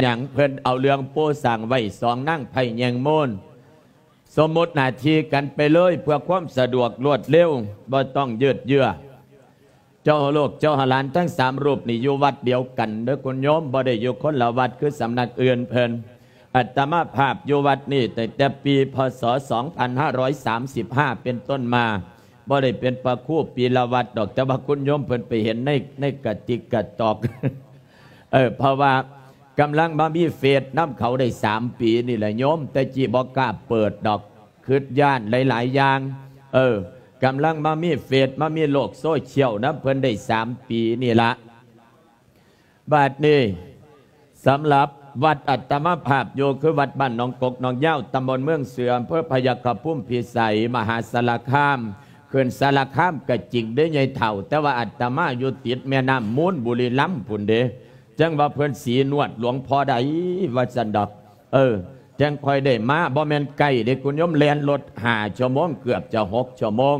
ຫຍັງ ເພິ່ນເອົາເລື່ອງປູສ້າງໄວ້ສອງນາງໄພແຍງມູນ ສົມມຸດໜ້າທີ່ກັນໄປເລີຍ ເພື່ອຄວາມສະດວກລວດເລັວ ບໍ່ຕ້ອງຍືດເຍື້ອ. ເຈົ້າໂລກເຈົ້າຫາຫຼານທັງສາມຮູບນີ້ຢູ່ວັດດຽວກັນເດີ້ຄຸນໂຍມ, ບໍ່ໄດ້ຢູ່ຄົນລະວັດຄືສຳນັກອື່ນເພິ່ນ. ອາດຕະມາພາບຢູ່ວັດນີ້ຕັ້ງແຕ່ປີ ພ.ສ. ສອງພັນຫ້າຮ້ອຍສາມສິບຫ້າເປັນຕົ້ນມາ, ບໍ່ໄດ້ເປັນພະຄູປີລະວັດດອກ, ແຕ່ວ່າຄຸນໂຍມເພິ່ນໄປເຫັນໃນ ໃນກະຕິກກະຕອກ ເອີ ເພາະວ່າກຳລັງມາມີເຟສນຳເຂົາໄດ້ສາມປີນີ້ແຫຼະໂຍມ, ແຕ່ກີ້ບໍ່ກ້າເປີດດອກ ຄິດຢ້ານຫຼາຍໆຢ່າງ. ເອີ ກຳລັງມາມີເຟສ ມາມີໂລກໂຊຊຽວນຳເພິ່ນໄດ້ສາມປີນີ້ລະ. ບາດນີ້ ສຳລັບວັດອາດຕະມາພາບຢູ່ ຄືວັດບ້ານໜອງກົກໜອງຍາວ ຕຳບົນເມືອງເສືອ ອຳເພີພະຍາຄະພູມພິໄສ ມະຫາສາລະຄາມ. ຂຶ້ນສາລະຄາມກະຈິງເດ້ຍາຍເຖົ້າ, ແຕ່ວ່າອາດຕະມາຢູ່ຕິດແມ່ນ້ຳມູນ ບຸລີລຳພຸ້ນເດ້. ຈັ່ງວ່າເພິ່ນສີນວດຫຼວງພໍ່ໃດວ່າຊັ້ນດອກ. ເອີ ຈັ່ງຄ່ອຍໄດ້ມາ, ບໍ່ແມ່ນໃກ້ເດ້ຄຸນໂຍມ, ແລ່ນລົດຫ້າຊົ່ວໂມງ ເກືອບຈະຫົກຊົ່ວໂມງ.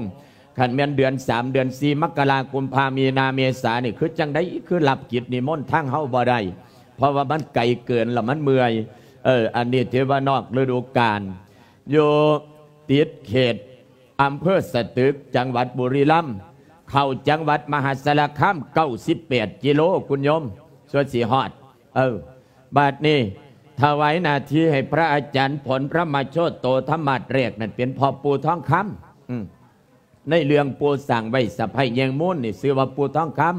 ຄັນແມ່ນເດືອນສາມ ເດືອນສີ່ ມະກະລາ ກຸມພາ ມີນາ ເມສານີ້ ຄືຈັ່ງໃດ ຄືຮັບກິດນິມົນທາງເຮົາບໍ່ໄດ້, ເພາະວ່າມັນໄກເກີນ ແລ້ວມັນເມື່ອຍ. ເອີ ອັນນີ້ຖືວ່ານອກລະດູການ. ຢູ່ຕິດເຂດອຳເພີສະຕຶກ ຈັງຫວັດບຸລີລຳ, ເຂົ້າຈັງຫວັດມະຫາສາລະຄາມເກົ້າສິບແປດກິໂລ ຄຸນໂຍມ, ສ່ວນຊິຮອດ. ເອີ ບາດນີ້ຖວາຍໜ້າທີ່ໃຫ້ພະອາຈານຜົນ ພະມະໂຊໂຕ ທຳມາດແລກນັ້ນ ເປັນພໍ່ປູ່ທອງຄຳ. ອືມ ໃນເລື່ອງປູສ້າງໄວ້ສະໄພແຍງມູນນີ້ ຊື່ວ່າປູ່ທອງຄຳ.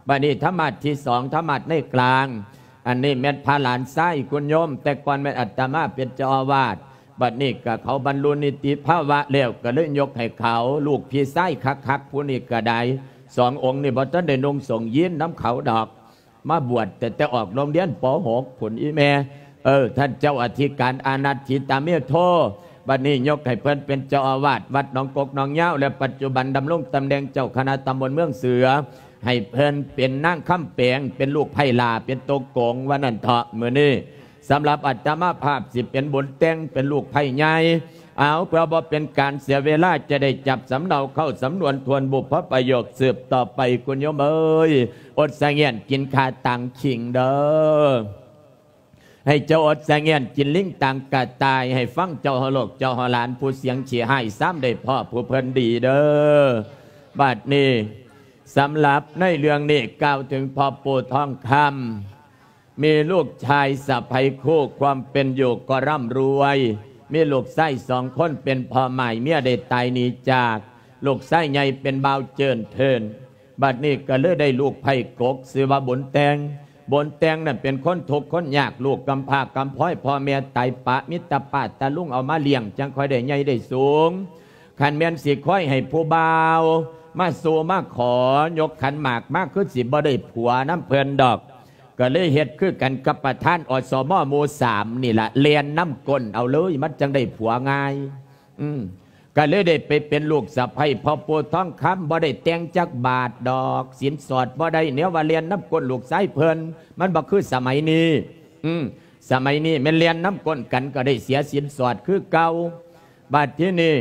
ບາດນີ້ທຳມາດທີສອງ ທຳມາດໃນກລາງ, ອັນນີ້ແມ່ນພະຫຼານຊາຍຄຸນໂຍມ, ແຕ່ກ່ອນແມ່ນອາດຕະມາເປັນເຈົ້າອາວາດ, ບາດນີ້ກະເຂົາບັນລຸນິຕິພາວະແລ້ວ ກະເລີຍຍົກໃຫ້ເຂົາ. ລູກພີ່ຊາຍຄັກໆຜູ້ນີ້ກະໄດ້, ສອງອົງນີ້ບໍ່ທັນໄດ້ນຸ່ງສົງຢີນນຳເຂົາດອກ. ມາບວດແຕ່ ແຕ່ອອກໂຮງຮຽນ ປໍຫົກ ພຸ້ນອີ່ແມ່. ເອີ ທ່ານເຈົ້າອະທິການອານັດ ທິຕາເມໂທ, ບັດນີ້ຍົກໃຫ້ເພິ່ນເປັນເຈົ້າອາວາດວັດໜອງກົກໜອງຍາວ ແລະ ປັດຈຸບັນດຳລົງຕຳແໜ່ງເຈົ້າຄະນະຕຳບົນເມືອງເສືອ, ໃຫ້ເພິ່ນເປັນນາງຄຳແປງ ເປັນລູກໃພ້ຫຼ້າ ເປັນໂຕໂກງວ່ານັ້ນເຖາະ. ມື້ນີ້ສຳລັບອາດຕະມາພາບຊິເປັນບຸນແຕ່ງ ເປັນລູກໃພ້ໃຫຍ່. ເອົາ ເພື່ອບໍ່ເປັນການເສຍເວລາ ຈະໄດ້ຈັບສຳເນົາເຂົ້າສຳນວນທວນບຸບພະປະໂຫຍກສືບຕໍ່ໄປ ຄຸນໂຍມເອີຍ. ອົດສະຫງຽນກິນຂາຕັງຂິງເດີ້. ໃຫ້ເຈົ້າອົດສະຫງຽນກິນລິງຕັງກະຕ່າຍ, ໃຫ້ຟັງເຈົ້າຫົວໂລກເຈົ້າຫົວຫຼານ ຜູ້ສຽງຂີ້ຮ້າຍ ຊ້ຳໄດ້ພໍ້ຜູ້ເພິ່ນດີເດີ້. ບາດນີ້ ສຳລັບໃນເລື່ອງນີ້ກ່າວເຖິງພໍ່ປູ່ທອງຄຳ. ມີລູກຊາຍສະໃພ້ຄູ່ ຄວາມເປັນຢູ່ກໍຮ່ຳລວຍ, ມີລູກຊາຍສອງຄົນເປັນພໍ່ໝ້າຍເມຍໄດ້ຕາຍໜີຈາກ, ລູກຊາຍໃຫຍ່ເປັນບ່າວເຈີນເທີນ, ບັດນີ້ກໍເລີຍໄດ້ລູກໃພ້ກົກ ຊື່ວ່າບຸນແຕ່ງ. ບຸນແຕ່ງນັ້ນເປັນຄົນທຸກຄົນຍາກ, ລູກກຳພ້າກຳພ້ອຍ, ພໍ່ແມ່ຕາຍປະ, ມີແຕ່ປ້າຕາລຸງເອົາມາລ້ຽງ ຈັ່ງຄ່ອຍໄດ້ໃຫຍ່ໄດ້ສູງ. ຄັນແມ່ນຊິຄອຍໃຫ້ຜູ້ບ່າວມາສູ່ມາຂໍ ຍົກຂັນໝາກມາ ຄືຊິບໍ່ໄດ້ຜົວນຳເພິ່ນດອກ. ກໍເລີຍເຮັດຄືກັນກັບປະທານ ອສມ ໝູ່ສາມນີ້ລະ, ແລ່ນນຳກົ້ນເອົາເລີຍ ມັນຈັ່ງໄດ້ຜົວງ່າຍ. ອືມ ກໍເລີຍໄດ້ໄປເປັນລູກສະໃພ້ພໍ່ປູ່ທອງຄຳ, ບໍ່ໄດ້ແຕ່ງຈັກບາດດອກ, ສິນສອດບໍ່ໄດ້, ແນວວ່າແລ່ນນຳກົ້ນລູກຊາຍເພິ່ນ, ມັນບໍ່ຄືສະໄໝນີ້. ອືມ ສະໄໝນີ້ແມ່ນແລ່ນນຳກົ້ນກັນ ກໍໄດ້ເສຍສິນສອດຄືເກົ່າ. ບາດທີນີ້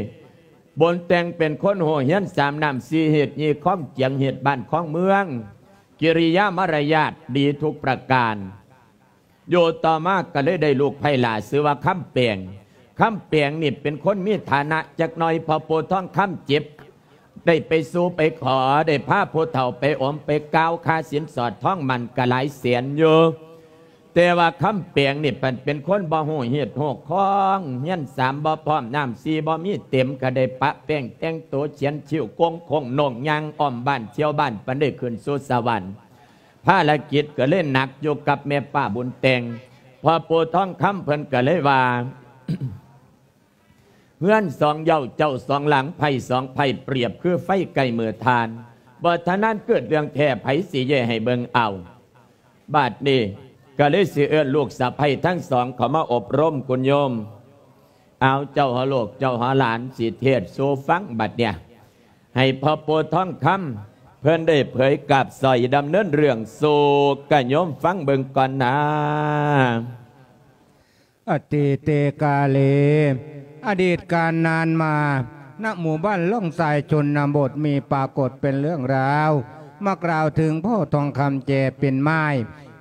ບົນແຕ່ງເປັນຄົນຮູ້ຮຽນສາມນ້ຳສີ່ຮີດ ຍີ່ຄອງຈຽງ ເຮັດບ້ານຄອງເມືອງ, ກິລິຍາມາລະຍາດດີທຸກປະການ. ຢູ່ຕໍ່ມາກໍເລີຍໄດ້ລູກໃພ້ຫຼ້າ ຊື່ວ່າຄຳແປງ. ຄຳແປງນີ້ເປັນຄົນມີຖານະຈັກໜ່ອຍ, ພໍ່ປູ່ທອງຄຳເຈັບ ໄດ້ໄປສູ່ໄປຂໍ, ໄດ້ພາຜູ້ເຖົ້າໄປອົມໄປກ່າວ, ຄ່າສິນສອດທອງໝັ້ນກໍຫຼາຍແສນຢູ່. ແຕ່ວ່າຄຳແປງນີ້ ເປັນ ເປັນຄົນບໍ່ຮູ້ຮີດຮູ້ຄອງ, ຮຽນສາມບໍ່ພ້ອມ, ນ້ຳສີ່ບໍ່ມີເຕັມ, ກໍໄດ້ປະແປ້ງແຕ່ງໂຕ, ຂຽນຄິ້ວ, ໂກງໂຄ້ງໂໜ້ງ, ຍ່າງອ້ອມບ້ານທ່ຽວບ້ານ, ປານໄດ້ຂຶ້ນສູ່ສະຫວັນ. ພາລະກິດກໍເລີຍໜັກຢູ່ກັບແມ່ປ້າບຸນແຕ່ງ. ພໍ່ປູ່ທອງຄຳເພິ່ນກໍເລີຍວ່າ ເຮືອນສອງເຍົາ ເຈົ້າສອງຫຼັງ, ໄພ້ສອງໄພ້, ປຽບຄືໄຟໃກ້ມືຖ່ານ. ບໍ່ທະນານເກີດເລື່ອງແທ້, ໃຜຊິແຍໃຫ້ເບິ່ງເອົາ? ບາດນີ້ກໍເລີຍຊິເອີ້ນລູກສະໃພ້ທັງສອງເຂົ້າມາອົບຮົມຄຸນໂຍມ. ເອົາ ເຈົ້າຫົວໂລກເຈົ້າຫົວຫຼານ ຊິເທດສູ່ຟັງບັດເນີ້ຍ. ໃຫ້ພໍ່ປູ່ທອງຄຳເພິ່ນໄດ້ເຜີຍກາບສອຍດຳເນີນເລື່ອງສູ່ກະໂຍມຟັງເບິ່ງກ່ອນນາ. ອະຕີເຕກາເລ ອະດີດການນານມາ ນະໝູ່ບ້ານລ່ອງຊາຍຊົນນະບົດ ມີປາກົດເປັນເລື່ອງລາວ ມາກ່າວເຖິງພໍ່ທອງຄຳແຈເປັນໝ້າຍ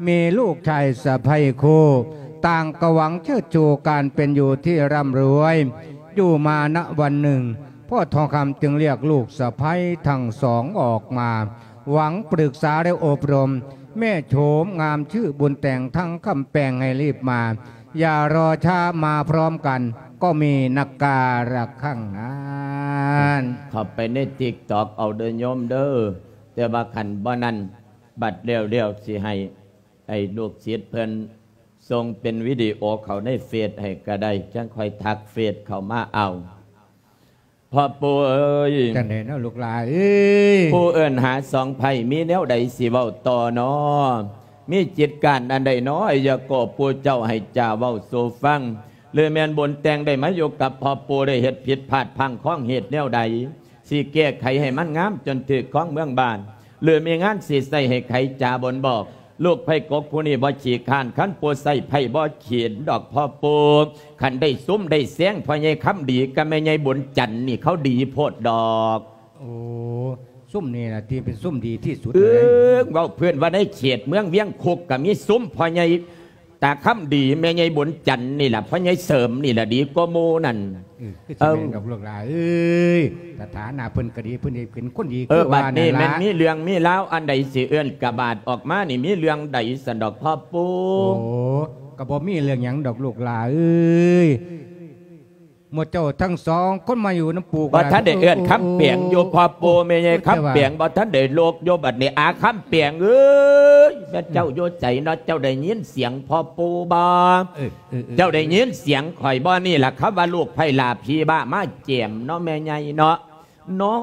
ມີລູກຊາຍສະໃພ້ຄູ່ ຕ່າງກໍຫວັງເຊີດຊູການເປັນຢູ່ທີ່ຮ່ຳລວຍ ຢູ່ມານະວັນໜຶ່ງ ພໍ່ທອງຄຳຈຶ່ງລຽກລູກສະໃພ້ທັງສອງອອກມາ ຫວັງປຶກສາ ແລະ ອົບຮົມ ແມ່ໂສມງາມຊື່ບຸນແຕ່ງທັງຄຳແປງໃຫ້ລີບມາ ຢ່າລໍຊ້າ ມາພ້ອມກັນ ກໍມີນັກກາລະຄັ້ງນັ້ນ. ເຂົ້າໄປໃນຕິກຕອກເອົາເດີໂຍມເດີ ແຕ່ວ່າຄັນບໍ່ນັ້ນ ບັດແລ້ວໆ ຊິໃຫ້ ໃຫ້ລູກສິດເພິ່ນສົ່ງເປັນວິດີໂອເຂົ້າໃນເຟສໃຫ້ກໍໄດ້ ຈັ່ງຄ່ອຍທັກເຟສເຂົ້າມາເອົາ. ພໍ່ປູ່ເອີຍ ຈັ່ງໃດເນາະລູກຫຼາເອີຍ? ຜູ້ເອີ້ນຫາສອງໃພ້ ມີແນວໃດຊິເວົ້າຕໍ່ນໍ? ມີຈິດການອັນໃດນໍ? ອາຍະໂກະ ຜູ້ເຈົ້າໃຫ້ຈາເວົ້າສູ່ຟັງ ຫຼືແມ່ນບຸນແຕ່ງໄດ້ມາຢູ່ກັບພໍ່ປູ່ ໄດ້ເຮັດຜິດພາດພລັ້ງຂອງເຫດແນວໃດ ຊິແກ້ໄຂໃຫ້ມັນງາມຈົນຖືກຄອງເມືອງບ້ານ ຫຼືມີງານຊິໃຊ້ໃຫ້ໄຂຈາບົນບອກ ລູກໃພ້ກົກຜູ້ນີ້ບໍ່ຂີ້ຄ້ານ ຄັນປູ່ໃຊ້ໃພ້ບໍ່ຂີ້ດອກພໍ່ປູ່ ຄັນໄດ້ຊຸມໄດ້ແຊງພໍ່ໃຫຍ່ຄຳດີກັບແມ່ໃຫຍ່ບຸນຈັນນີ້ ເຂົາດີໂພດດອກ. ໂອ້ ຊຸມນີ້ລະທີ່ເປັນຊຸມດີທີ່ສຸດເລີຍ. ເອີ ເວົ້າເພື່ອນວ່າໃນເຂດເມືອງວຽງຄຸກກໍມີຊຸມພໍ່ໃຫຍ່ ຕາຄຳດີ ແມ່ໃຫຍ່ບຸນຈັນນີ້ລະ ພໍ່ໃຫຍ່ເສີມນີ້ລະດີກວ່າໝູ່ນັ້ນ. ເອີ ຄືຊິແມ່ນດອກລູກຫຼາເອີຍ ສະຖານະເພິ່ນກໍດີ ເພິ່ນໄດ້ເປັນຄົນດີ ເອີ ຄືວ່ານັ້ນລະ. ບັດນີ້ແມ່ນມີເລື່ອງມີລາວອັນໃດຊິເອີ້ນກະບາດອອກມານີ້ ມີເລື່ອງໃດຊັ້ນດອກພໍ່ປູ່? ໂອ້ ກໍບໍ່ມີເລື່ອງຫຍັງດອກລູກຫຼາເອີຍ ໝູ່ເຈົ້າທັງສອງຄົນມາຢູ່ນຳປູ່ ບໍ່ທັນໄດ້ເອີ້ນຄຳແປງຢູ່ພໍ່ປູ່ ແມ່ໃຫຍ່ຄຳແປງບໍ່ທັນໄດ້ລຸກຢູ່ ບັດນີ້ອາຄຳແປງເອີຍ ແມ່ນເຈົ້າຢູ່ໃສເນາະ? ເຈົ້າໄດ້ຍິນສຽງພໍ່ປູ່ບໍ່? ເອີ ເຈົ້າໄດ້ຍິນສຽງຂ້ອຍບໍ່? ນີ້ລະຄຳວ່າລູກໃພ້ຫຼ້າຜີບ້າມາແຈມເນາະ ແມ່ໃຫຍ່ເນາະ ນອ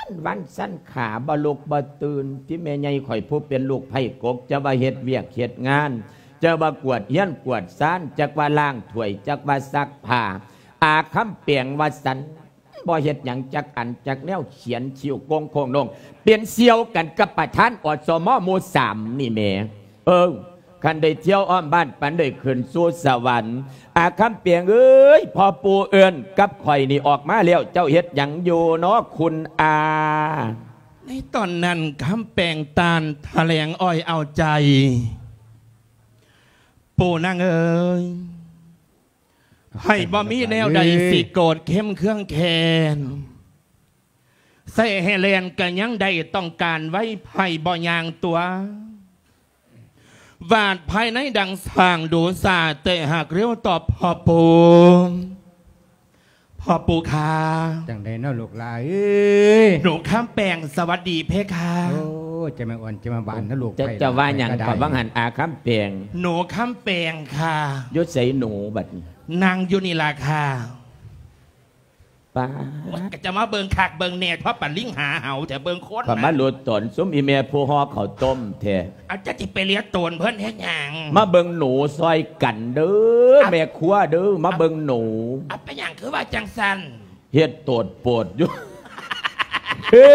ນວັນສັນຂາບໍ່ລຸກບໍ່ຕື່ນ ທີ່ແມ່ໃຫຍ່ຂ້ອຍຜູ້ເປັນລູກໃພ້ກົກ ຈະວ່າເຮັດວຽກເຮັດງານ ຈະວ່າກວດເຮືອນກວດຊານ ຈັກວ່າລ້າງຖ້ວຍ ຈັກວ່າຊັກຜ້າ ອາຄຳແປງວ່າຊັ້ນ ບໍ່ເຮັດຫຍັງຈັກອັນຈັກແນວ ຂຽນຄິ້ວໂກງໂຄ້ງໂໜ່ງ ເປັນສ່ຽວກັນກັບປະທານ ອສມ ໝູ່ສາມນີ້ແໝ. ເອີ ຄັນໄດ້ທ່ຽວອ້ອມບ້ານ ປານໄດ້ຂຶ້ນສູ່ສະຫວັນ. ອາຄຳແປງເອີຍ ພໍ່ປູ່ເອີ້ນກັບຂ້ອຍນີ້ອອກມາແລ້ວ ເຈົ້າເຮັດຫຍັງຢູ່ເນາະຄຸນອາ? ໃນຕອນນັ້ນ ຄຳແປງຕ່ານຖະແຫຼງອ້ອຍເອົາໃຈ ປູ່ນາງເອີຍ ໃຜບໍ່ມີແນວໃດ ເອີຍ ຊິໂກດເຄັມເຄືອງແຄ້ນ ໃສ່ໃຫ້ແລ່ນກະຍັງໄດ້ ຕ້ອງການໄວ ໃຜບໍ່ຍ່າງຕົວ ວາດພາຍໃນດັ່ງຊ້າງດູສາ ແຕ່ຫາກເລັວຕອບພໍ່ປູ່. ພໍ່ປູ່ຂ້າ ຈັ່ງໃດເນາະລູກຫຼາເອີຍ? ໜູຄຳແປງ ສະຫວັດດີເພຄາ. ໂອ້ ຈະມາອ່ອນຈະມາຫວານເນາະລູກ ເຈົ້າ ເຈົ້າວ່າຫຍັງ ຂ້ອຍວ່າຫັ້ນ ອາຄຳແປງ? ໜູຄຳແປງຄ່າ. ຢູ່ໃສໜູບັດນີ້? ນັ່ງຢູ່ນີ້ລະຄ່າ. ປ້າດ ໂອ້ຍ ກະຈະມາເບິ່ງຄັກເບິ່ງແນ່ ພໍປານລິງຫາເຫົ່າແທ້ ເບິ່ງຄົນ ຂ້ອຍມາຫຼຸດຕົນຊຸມອີ່ແມ່ຜູ້ຫໍ່ເຂົ້າຕົ້ມແທ້. ເອົາ ເຈົ້າຊິໄປເລຍໂຕນເພິ່ນເຮັດຫຍັງ? ມາເບິ່ງໜູຊ່ອຍກັນເດີ ເອົາ ແມ່ຄົວເດີ ມາເບິ່ງໜູ. ເອົາ ເປັນຫຍັງຄືວ່າຈັ່ງຊັ້ນ? ເຮັດໂຕດໂປດຢູ່. ເອີ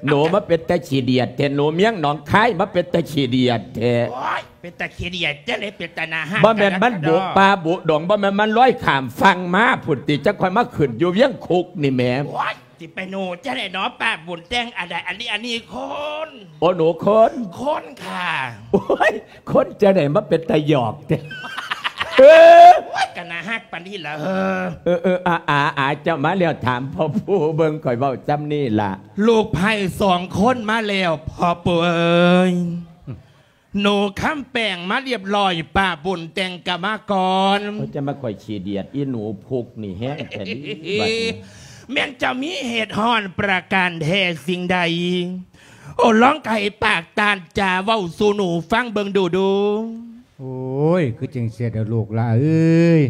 ໜູມາເປັນຕາຂີ້ດຽດແທ້ ໜູມຽງໜອງຄາຍມາເປັນຕາຂີ້ດຽດແທ້. ໂອ້ຍ ເປັນຕາຂີ້ດຽດຈັ່ງໃດ ເປັນຕາໜ້າຮັກ. ບໍ່ແມ່ນມັນບຸປ່າບຸດົງ ບໍ່ແມ່ນມັນລອຍຂ້າມຝັ່ງມາພຸ້ນຕິ ຈັ່ງຄ່ອຍມາຂຶ້ນຢູ່ວຽງຄຸກນີ້ແໝ. ໂອ້ຍ ຊິໄປໜູຈັ່ງໃດເນາະ ປ້າບຸນແຕ່ງ ອັນໃດ ອັນນີ້ ອັນນີ້ຄົນ. ໂອ້ ໜູຄົນ? ຄົນຄ່າ. ໂອ້ຍ ຄົນຈັ່ງໃດມາເປັນຕາຫຍອກແທ້. ເອີ ໂອ້ຍ ກະໜ້າຮັກປານນີ້ລະເຮີ. ເອີ ເອີ ອາ ອາ ອາ ເຈົ້າມາແລ້ວ ຖາມພໍ່ຜູ້ເບິ່ງ ຂ້ອຍເວົ້າຊ່ຳນີ້ລະ. ລູກໃພ້ສອງຄົນມາແລ້ວ ພໍ່ປູ່ເອີຍ. ໜູຄຳແປງມາລຽບລ້ອຍ ປ້າບຸນແຕ່ງກະມາກ່ອນ. ເຂົາຈະມາຂ້ອຍຂີ້ດຽດ ອີ່ໜູພຸກນີ້ແຮງແທ້ເດບັດນີ້. ແມ່ນເຈົ້າມີເຫດຮ້ອນປະການແທ້ສິ່ງໃດ? ໂອ້ ລອງໄຂປາກຕານຈາເວົ້າສູ່ໜູຟັງເບິ່ງດູດູ. ໂອ້ຍ ຄືຈັ່ງຊີ້ເດີລູກຫຼາເອີຍ.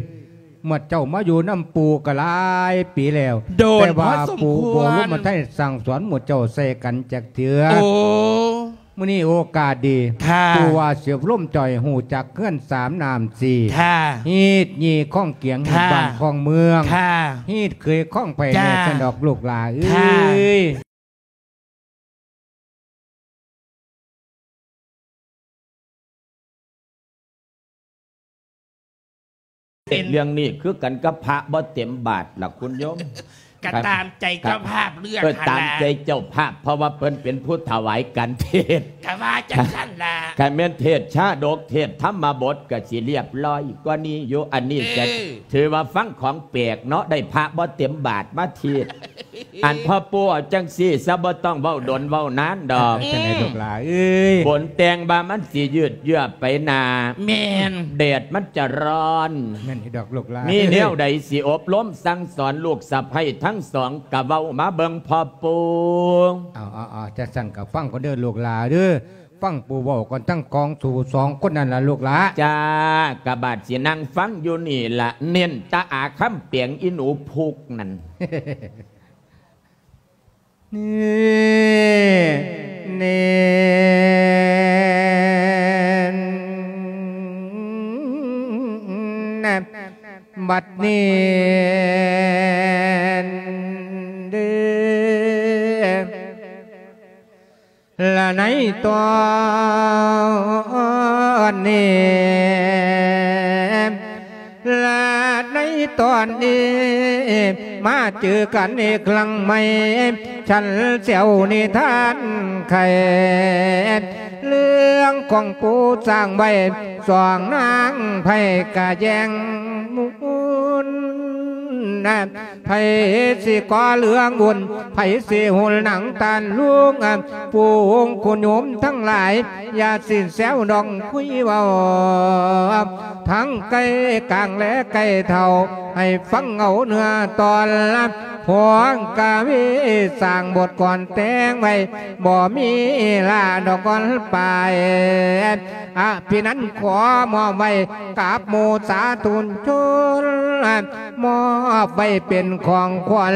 ໝົດເຈົ້າມາຢູ່ນຳປູ່ກໍຫຼາຍປີແລ້ວ ໂດນ ແຕ່ວ່າ ພໍສົມຄວນ ປູ່ບໍ່ລົງມາໄທສັ່ງສອນໝູ່ເຈົ້າໃສ່ກັນຈັກເທື່ອ. ໂອ້ ມື້ນີ້ໂອກາດດີ ຄ່າ ປູ່ວ່າຊິອົບຮົມເຈົ້າໃຫ້ຮູ້ຈັກເຮືອນສາມນ້ຳສີ່ ຄ່າ ຮີດຍີ່ຄອງກຽງ ຄ່າ ຮີດບ້ານຄອງເມືອງ ຄ່າ ຮີດເຂີຍຄອງໄພ ແນ່ຊັ້ນດອກລູກຫຼາເອີຍ. ເປັນເລື່ອງນີ້ຄືກັນກັບພະບໍ່ເຕັມບາດລະຄຸນໂຍມ. ກໍຕາມໃຈເຈົ້າພາບເລືອກ ເອີ ຫັ້ນລະ ຕາມໃຈເຈົ້າພາບ ເພາະວ່າເພິ່ນເປັນຜູ້ຖວາຍການເທດນ໌. ກໍວ່າຈັ່ງຊັ້ນລະ ຄັນແມ່ນເທດຊາດົກ ເທດທຳມະບົດກໍຊິລຽບລ້ອຍກວ່ານີ້ຢູ່. ອັນນີ້ກໍ ເອີ ຖືວ່າຟັງຂອງແປກເນາະ ໄດ້ພະບໍ່ເຕັມບາດມາເທດນ໌. ອັນພໍ່ປູ່ ເອົາຈັ່ງຊີ້ຊະ ບໍ່ຕ້ອງເວົ້າດົນເວົ້ານານດອກ. ເອີ ຈັ່ງໃດລູກຫຼາເອີຍ? ຝົນແຕ່ງວ່າມັນຊິຍືດເຍື້ອໄປໜ້າ. ແມ່ນ. ແດດມັນຈະຮ້ອນ. ແມ່ນຢູ່ດອກລູກຫຼາ. ມີແນວໃດຊິອົບຮົມສັ່ງສອນລູກສະໃພ້ທັງສອງ ກະເວົ້າມາເບິ່ງພໍ່ປູ່. ເອົາໆໆ ຈັ່ງຊັ້ນກະຟັງກ່ອນເດີລູກຫຼາເດີ. ຟັງປູ່ເວົ້າກ່ອນ ທັງຂອງສູສອງຄົນນັ້ນລະລູກຫຼາ. ຈ້າ ກະບາດຊິນັ່ງຟັງຢູ່ນີ້ລະ ເນັ້ນແຕ່ອາຄຳແປງອີ່ໜູພຸກນັ້ນ. ນີ້ ນີ້ ບັດນີ້ເດີ ລະໃນຕອນນີ້ ລະໃນຕອນນີ້ ມາເຈີກັນອີກຄັ້ງໃໝ່ ຊັ້ນແຊວນິທານໄຂ ເລື່ອງຂອງປູສ້າງໄວ້ ສອງນາງໄພ້ກະແຍ່ງມຸນ ໃຜຊິກໍ່ເລື່ອງບຸນ ໃຜຊິຫຸນໜັງຕານລຸງ ປູ່ໂຍມທັງຫຼາຍ ຢ່າຊິແຊວດອງຄຸຍເວົ້າ ທັງໄກກາງແລໄກເຖົ້າ ໃຫ້ຟັງເອົາເນື້ອຕອນ ພວງກະວີສ້າງບົດກອນແຕ່ງໄວ້ ບໍ່ມີລາດອກກ່ອນປາຍ ອະພິນັນຂໍມອບໄວ້ກັບໝູ່ສາທຸຊົນ ມອບໄວ້ເປັນຂອງຂວັນ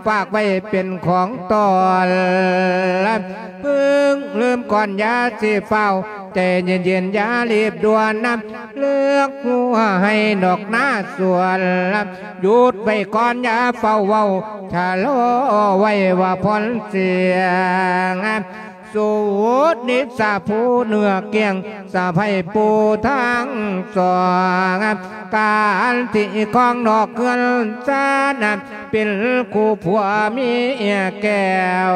ຝາກໄວ້ເປັນຂອງຕ້ອນ ເພິ່ງລືມກ່ອນຢ່າຊິຟ້າວ ໃຈເຢັນໆຢ່າລີບດ່ວນນຳ ເລືອກຫົວໃຫ້ນອກໜ້າສວນ ຢຸດໄວ້ກ່ອນຢ່າຟ້າວເວົ້າ ຊະລໍໄວ້ວ່າພອນສຽງ ສູດນິດສາຜູ້ເນື້ອກ້ຽງ ສະໃພ້ປູທັງສອງ ການທີ່ຄອງນອກເຮືອນຊານ ເປັນຄູ່ຜົວເມຍແກ້ວ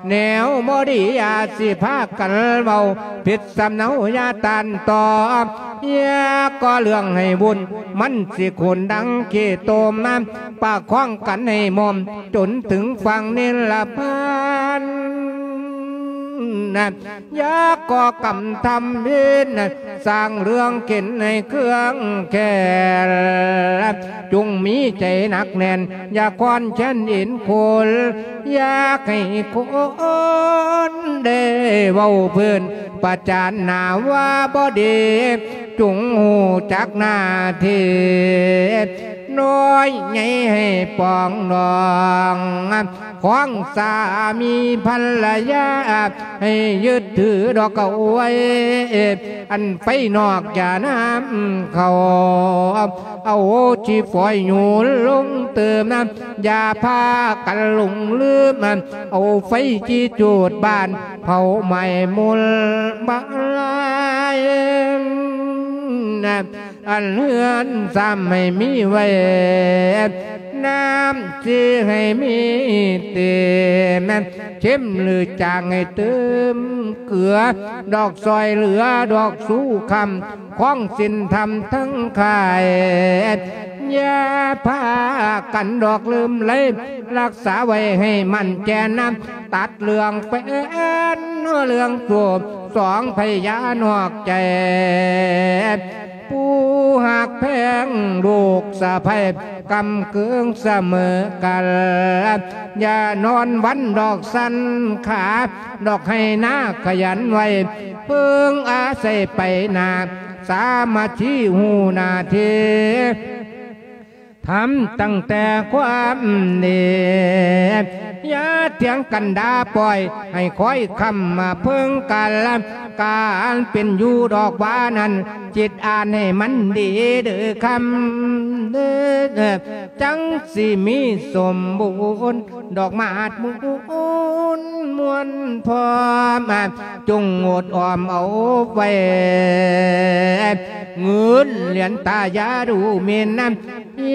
ແນວບໍ່ດີຢ່າຊິພາກັນເວົ້າ ຜິດສຳເນົາຢ່າຕ້ານຕອບ ຢ່າກໍ່ເລື່ອງໃຫ້ວຸ່ນ ມັນຊິຂຸນດັ່ງຂີ້ຕົມ ປະຄອງກັນໃຫ້ໝົມ ຈົນເຖິງຝັ່ງນິລະພັນ ຢ່າກໍ່ກຳທຳເວນ ສ້າງເລື່ອງເຂັນໃຫ້ເຄືອງແຄ້ນ ຈົ່ງມີໃຈໜັກແໜ້ນ ຢ່າຄອນແຄ້ນເອັນຄົນ ຢາກໃຫ້ຄົນໄດ້ເວົ້າເພິ່ນ ປະຈານໜ້າວ່າບໍ່ດີ ຈົ່ງຮູ້ຈັກໜ້າທີ່ ນ້ອຍໃຫຍ່ໃຫ້ປອງດອງ ຂອງສາມີພັນລະຍາ ໃຫ້ຍຶດຖືດອກເອົາໄວ້ ອັນໄຟນອກຢ່ານຳເຂົ້າ ເອົາຂີ້ຝອຍຫຍູລົງເຕີມ ຢ່າພາກັນຫຼົງລືມ ເອົາໄຟຈີຈູດບ້ານ ເຜົາໄໝ້ມຸນບາຍ ອັນເຮືອນຊາມໃຫ້ມີໄວ້ ນ້ຳຊິໃຫ້ມີເຕັມ ເຂັມຫຼືຈາງໃຫ້ເຕີມເກືອ ດອກຊ່ອຍເຫຼືອດອກສູ່ຄຳ ຂອງສິນທຳທັງຂາຍ ຢ່າພາກັນດອກລືມໄລ ຮັກສາໄວ້ໃຫ້ໝັ້ນແກ່ນນຳ ຕັດເລື່ອງແຟນເລື່ອງໂສ ສອງໄພຢານອກໃຈ ຜູ້ຮັກແພງລູກສະໃພ້ ກຳເກີງສະເໝີກັນ ຢ່ານອນວັນດອກສັນຂາ ດອກໄຮ່ນາຂະຫຍັນໄວ້ ເພິ່ງອາໄສໄປໜ້າ ສາມັກຄີຮູ້ໜ້າທີ່ ທຳຕັ້ງແຕ່ຄວາມດີ ຢ່າຖຽງກັນດ່າປ່ອຍ ໃຫ້ຄອຍຄຳມາເພິ່ງກັນ ການເປັນຢູ່ດອກວ່ານັ້ນ ຈິດອ່ານໃຫ້ມັນດີເດີຄຳເດີ ຈັ່ງຊິມີສົມບູນ ດອກໝາດມູນມ່ວນພ້ອມ ຈົ່ງງົດອອມເອົາໄວ້ ເງິນຫຼຽນຕາຢ່າດູໝິ່ນນຳ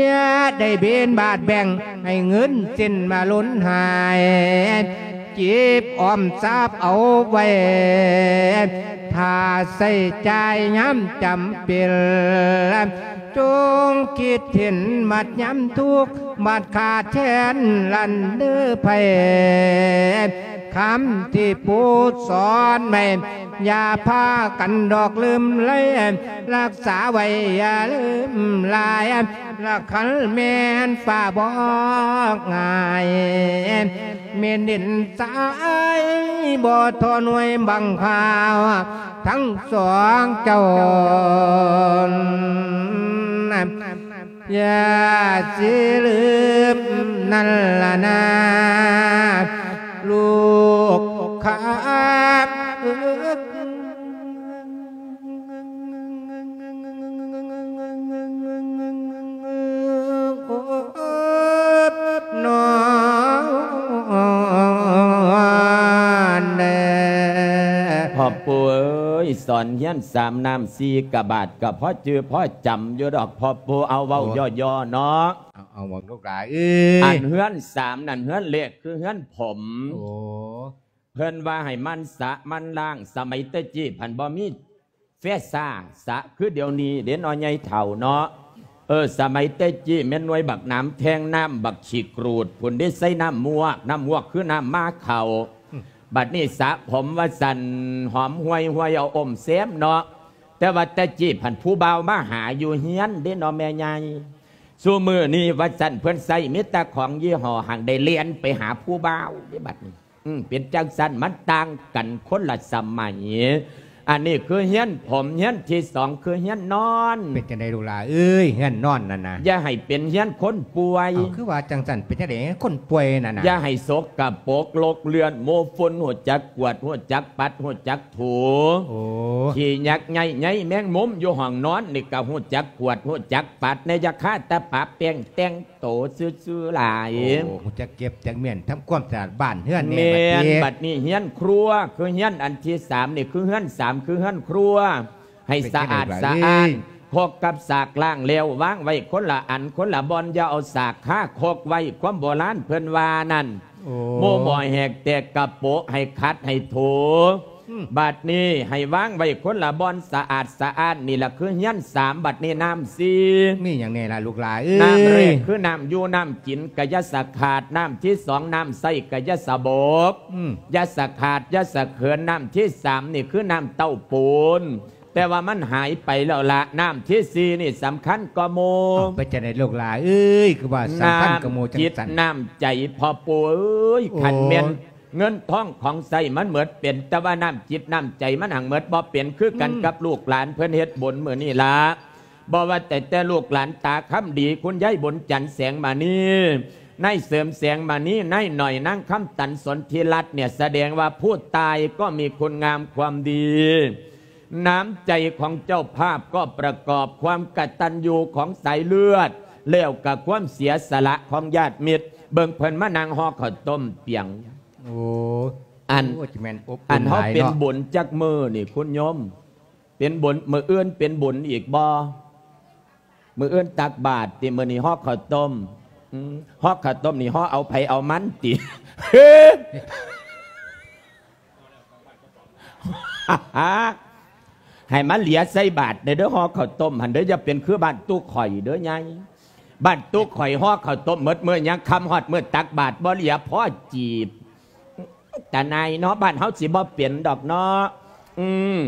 ຢ່າໄດ້ເບນບາດແບ່ງ ໃຫ້ເງິນເສັ້ນມາລົ້ນຫາຍ ເກັບອອມຊາບເອົາໄວ້ ຖ້າໃຊ້ຈ່າຍຍາມຈຳເປັນ ຈົ່ງຄິດເຫັນບັດຍາມທຸກ ບັດຂາດແຄນລັນເດີໄພ ຄຳທີ່ປູສອນໄວ້ ຢ່າພາກັນດອກລືມໄລ ຮັກສາໄວ້ຢ່າລືມຫຼາຍ ລະຄັນແມ່ນຟ້າບໍ່ງ່າຍ ແມ່ນດິນຊາຍບໍ່ທໍໜ່ວຍບັງພາວ ທັງສອງເຈົ້າ ຢ່າຊິລືມນັ້ນລະນາ ລູກຂ້າເອີຍ ນອນເດີ ພໍ່ປູ່ເອີຍ ສອນຮຽນສາມນ້ຳສີ່ກະບາດ ກະພໍຈື່ພໍຈຳຢູ່ດອກ ພໍ່ປູ່ ເອົາເວົ້າ ໂອ້ ຍໍໆເນາະ ເອົາ ເອົາ ເວົ້າລູກຫຼາເອີຍ ອັນເຮືອນສາມນັ້ນ ເຮືອນແລກຄືເຮືອນຜົມ ໂອ້ ເພິ່ນວ່າໃຫ້ໝັ່ນສະໝັ່ນລ້າງ ສະໄໝແຕ່ກີ້ພັນບໍ່ມີແຟຊາສະຄືດຽວນີ້ເດ້ເນາະ ໃຫຍ່ເຖົ້າເນາະ ເອີ ສະໄໝແຕ່ກີ້ແມ່ນໜ່ວຍບັກໜາມແທງນ້ຳບັກຂີ້ກຣູດພຸ້ນເດ້ ໃສ່ນ້ຳມວກ ນ້ຳມວກຄືນ້ຳໝາເຂົ້າ ອືມ ບັດນີ້ສະຜົມວ່າຊັ້ນ ຫອມຫ່ວຍໆ ເອົາອົມແຊມເນາະ ແຕ່ວ່າແຕ່ກີ້ພັນຜູ້ບ່າວມາຫາຢູ່ເຮືອນເດ້ເນາະແມ່ໃຫຍ່ ຊຸມື້ນີ້ວ່າຊັ້ນ ເພິ່ນໃຊ້ມີແຕ່ຂອງຍີ່ຫໍ້ ຫາກໄດ້ແລ່ນໄປຫາຜູ້ບ່າວເດ້ບັດນີ້ ອືມ ເປັນຈັ່ງຊັ້ນ ມັນຕ່າງກັນຄົນລະສະໄໝ ອັນນີ້ຄືເຮືອນຜົມ ເຮືອນທີສອງຄືເຮືອນນອນ ເປັນຈັ່ງໃດລູກຫຼາເອີຍ ເຮືອນນອນນັ້ນນະ ຢ່າໃຫ້ເປັນເຮືອນຄົນປ່ວຍ ເອົ້າ ຄືວ່າຈັ່ງຊັ້ນ ເປັນຈັ່ງໃດຄົນປ່ວຍນັ້ນນະ ຢ່າໃຫ້ສົກກະປົກ ລົກເລື່ອນ ໂມຝຸ່ນ ຮູ້ຈັກກວາດ ຮູ້ຈັກປັດ ຮູ້ຈັກ ຖູ ໂອ້ ຂີ້ຍັກໄຍ່ໃຍແມງມຸມຢູ່ຫ້ອງນອນນີ້ກະຮູ້ຈັກກວາດ ຮູ້ຈັກປັດແດ່ ຢ່າຄາແຕ່ປະແປ້ງແຕ່ງໂຕຊື່ໆຫຼາຍ ໂອ້ ຮູ້ຈັກເກັບຈັກມ້ຽນ ທຳຄວາມສະອາດບ້ານເຮືອນແດ່ ແມ່ນ ບັດນີ້ ບັດນີ້ເຮືອນຄົວ ຄືເຮືອນອັນທີສາມນີ້ ຄືເຮືອນສາມ ຄືເຮືອນຄົວ ໃຫ້ສະອາດສະອ້ານ ເປັນຈັ່ງໃດລະເອີຍ ຄົກກັບສາກລ້າງແລ້ວ ວາງໄວ້ຄົນລະອັນຄົນລະບ່ອນ ຢ່າເອົາສາກຄາຄົກໄວ້ ຄວາມໂບລານເພິ່ນວ່ານັ້ນ ໂອ້ ໂມໝໍແຫກແຕກກະໂປະ ໃຫ້ຂັດໃຫ້ຖູ ອືມ ບາດນີ້ໃຫ້ວາງໄວ້ຄົນລະບ່ອນ ສະອາດສະອ້ານ ນີ້ລະຄືເຮືອນສາມ ບາດນີ້ນ້ຳສີ່ ມີຫຍັງແດ່ລະລູກຫຼາເອີຍ ນ້ຳແລກຄືນ້ຳຢູ່ນ້ຳກິນ ກະຢ່າສະຂາດ ນ້ຳທີສອງນ້ຳໃຊ້ ກະຢ່າສະບົກ ອືມ ຢ່າສະຂາດ ຢ່າສະເຂີນ ນ້ຳທີສາມນີ້ຄືນ້ຳເຕົ້າປູນ ແຕ່ວ່າມັນຫາຍໄປແລ້ວລະ ນ້ຳທີສີ່ນີ້ສຳຄັນກວ່າໝູ່ ເອົ້າ ເປັນຈັ່ງໃດລູກຫຼາເອີຍ ຄືວ່າສຳຄັນກວ່າໝູ່ຈັ່ງຊັ້ນ ນ້ຳຈິດນ້ຳໃຈ ພໍ່ປູ່ເອີຍ ໂອ້ ຄັນແມ່ນເງິນທອງຂອງໃຊ້ມັນໝົດເປັນ ແຕ່ວ່ານ້ຳຈິດນ້ຳໃຈມັນຫາກໝົດບໍ່ເປັນ ຄືກັນ ອືມ ກັບລູກຫຼານເພິ່ນເຮັດບຸນມື້ນີ້ລະ ບໍ່ວ່າແຕ່ ແຕ່ລູກຫຼານຕາຄຳດີ ຄຸນຍາຍບຸນຈັນ ແສງມະນີ ນາຍເສີມ ແສງມະນີ ນາຍໜ້ອຍ ນາງຄຳຕັນ ສົນທິລັດ ເນ່ຍ ສະແດງວ່າຜູ້ຕາຍກໍມີຄຸນງາມຄວາມດີ ນ້ຳໃຈຂອງເຈົ້າພາບກໍປະກອບຄວາມກະຕັນຍູຂອງສາຍເລືອດ ແລ້ວກະຄວາມເສຍສະຫຼະຂອງຍາດມິດ ເບິ່ງເພິ່ນມານັ່ງຫໍ່ເຂົ້າຕົ້ມປຽງ ໂອ້ ອັນ ໂອ້ ຈະແມ່ນອົບອຸ່ນຫຼາຍເນາະ ອັນເຮົາເປັນບຸນຈັກມື້ນີ້ຄຸນໂຍມ ເປັນບຸນ ມື້ອື່ນເປັນບຸນອີກບໍ່? ມື້ອື່ນຕັກບາດຕິ ມື້ນີ້ຫໍ່ເຂົ້າຕົ້ມ ອືມ ຫໍ່ເຂົ້າຕົ້ມນີ້ຫໍ່ເອົາໃຜເອົາມັນຕິ ໃຫ້ມັນເຫຼືອໃສ່ບາດແດ່ເດີ ຫໍ່ເຂົ້າຕົ້ມຫັ້ນເດີ ຢ່າເປັນຄືບ້ານຕຸຂ້ອຍເດີໃຫຍ່ ບ້ານຕຸຂ້ອຍຫໍ່ເຂົ້າຕົ້ມໝົດມື້ ຍັງຄ່ຳຮອດມື້ຕັກບາດບໍ່ເຫຼືອພໍຈີບ ຕານາຍເນາະ ບ້ານເຮົາຊິບໍ່ເປັນດອກເນາະ ອືມ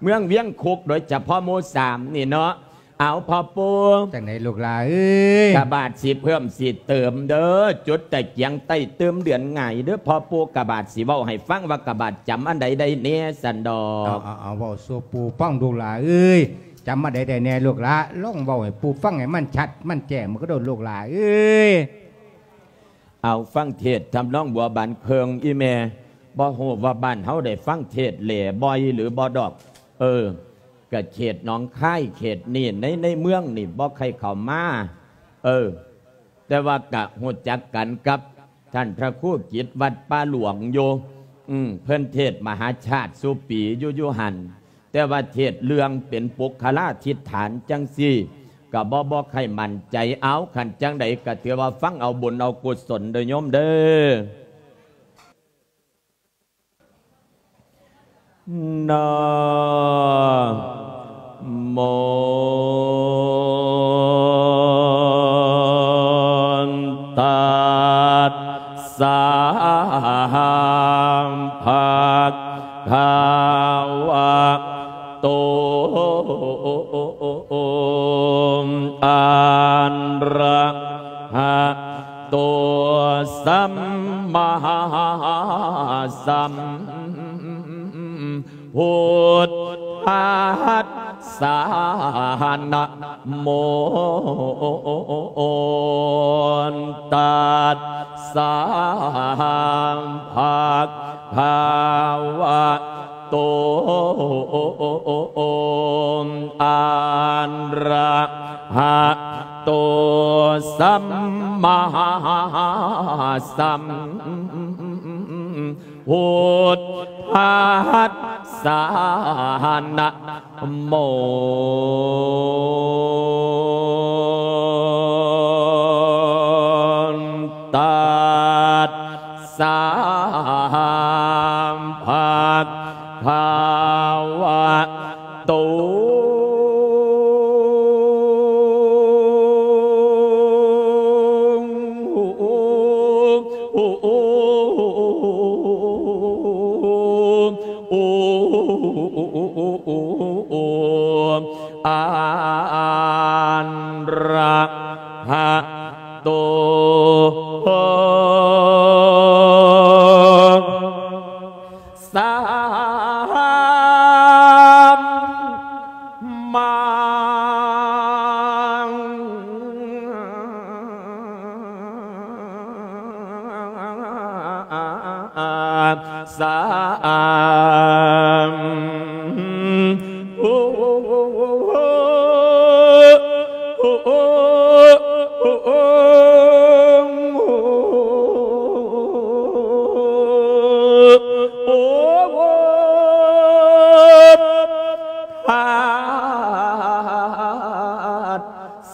ເມືອງວຽງຄຸກ ໂດຍສະເພາະໝູ່ສາມນີ້ເນາະ ເອົາ ພໍ່ປູ່ ຈັ່ງໃດລູກຫຼາເອີຍ ກະບາດຊິເພີ່ມຊິເຕີມເດີ ຈຸດຕະກຽງໃຕ້ຕື່ມເດືອນຫງາຍເດີ ພໍ່ປູ່ ກະບາດຊິເວົ້າໃຫ້ຟັງວ່າກະບາດຈຳອັນໃດໄດ້ແດ່ຊັ້ນດອກ ເອົາ ເອົາ ເອົາ ເວົ້າສູ່ປູ່ຟັງລູກຫຼາເອີຍ ຈຳອັນໃດໄດ້ແດ່ລູກຫຼາ ລອງເວົ້າໃຫ້ປູ່ຟັງໃຫ້ມັນຊັດມັນແຈ້ງ ມັນກະໂດດລູກຫຼາເອີຍ. ເອົາ ຟັງເທດທຳນອງບົວບານເຄິ່ງ ອີ່ແມ່ ບໍ່ຮູ້ວ່າບ້ານເຮົາໄດ້ຟັງເທດແຫຼບໍ່ ຫຼືບໍ່ດອກ. ເອີ ກະເຂດໜອງຄາຍເຂດນີ້ ໃນ ໃນເມືອງນີ້ບໍ່ໃຄ່ເຂົ້າມາ. ເອີ ແຕ່ວ່າກະຮູ້ຈັກກັນກັບທ່ານພະຄູກິດວັດປ່າຫຼວງຢູ່. ອືມ ເພິ່ນເທດມະຫາຊາດສູ່ປີຢູ່ ຢູ່ຫັ້ນ. ແຕ່ວ່າເທດເລື່ອງເປັນປຸກຄະລາທິດຖານຈັ່ງຊີ້ ກະບໍ່ ບໍ່ໃຄ່ໝັ້ນໃຈ. ເອົາ ຄັນຈັ່ງໃດກະຖືວ່າຟັງເອົາບຸນເອົາກຸສົນເດີໂຍມເດີ. ນະໂມ ຕັດສະ ພະຄະວະໂຕ ອະຣະຫະ ໂຕ ສຳມາສຳພຸດທັດສະ ນະໂມ ຕັດສະ ພະຄະວະ ໂຕ ອະຣະຫະໂຕ ສຳມາສຳພຸດທັດສະ ນະໂມ ຕັດ ສະ ພະຄະວະໂຕ ອະຣະຫະ ໂຕ ສຳມາສຳ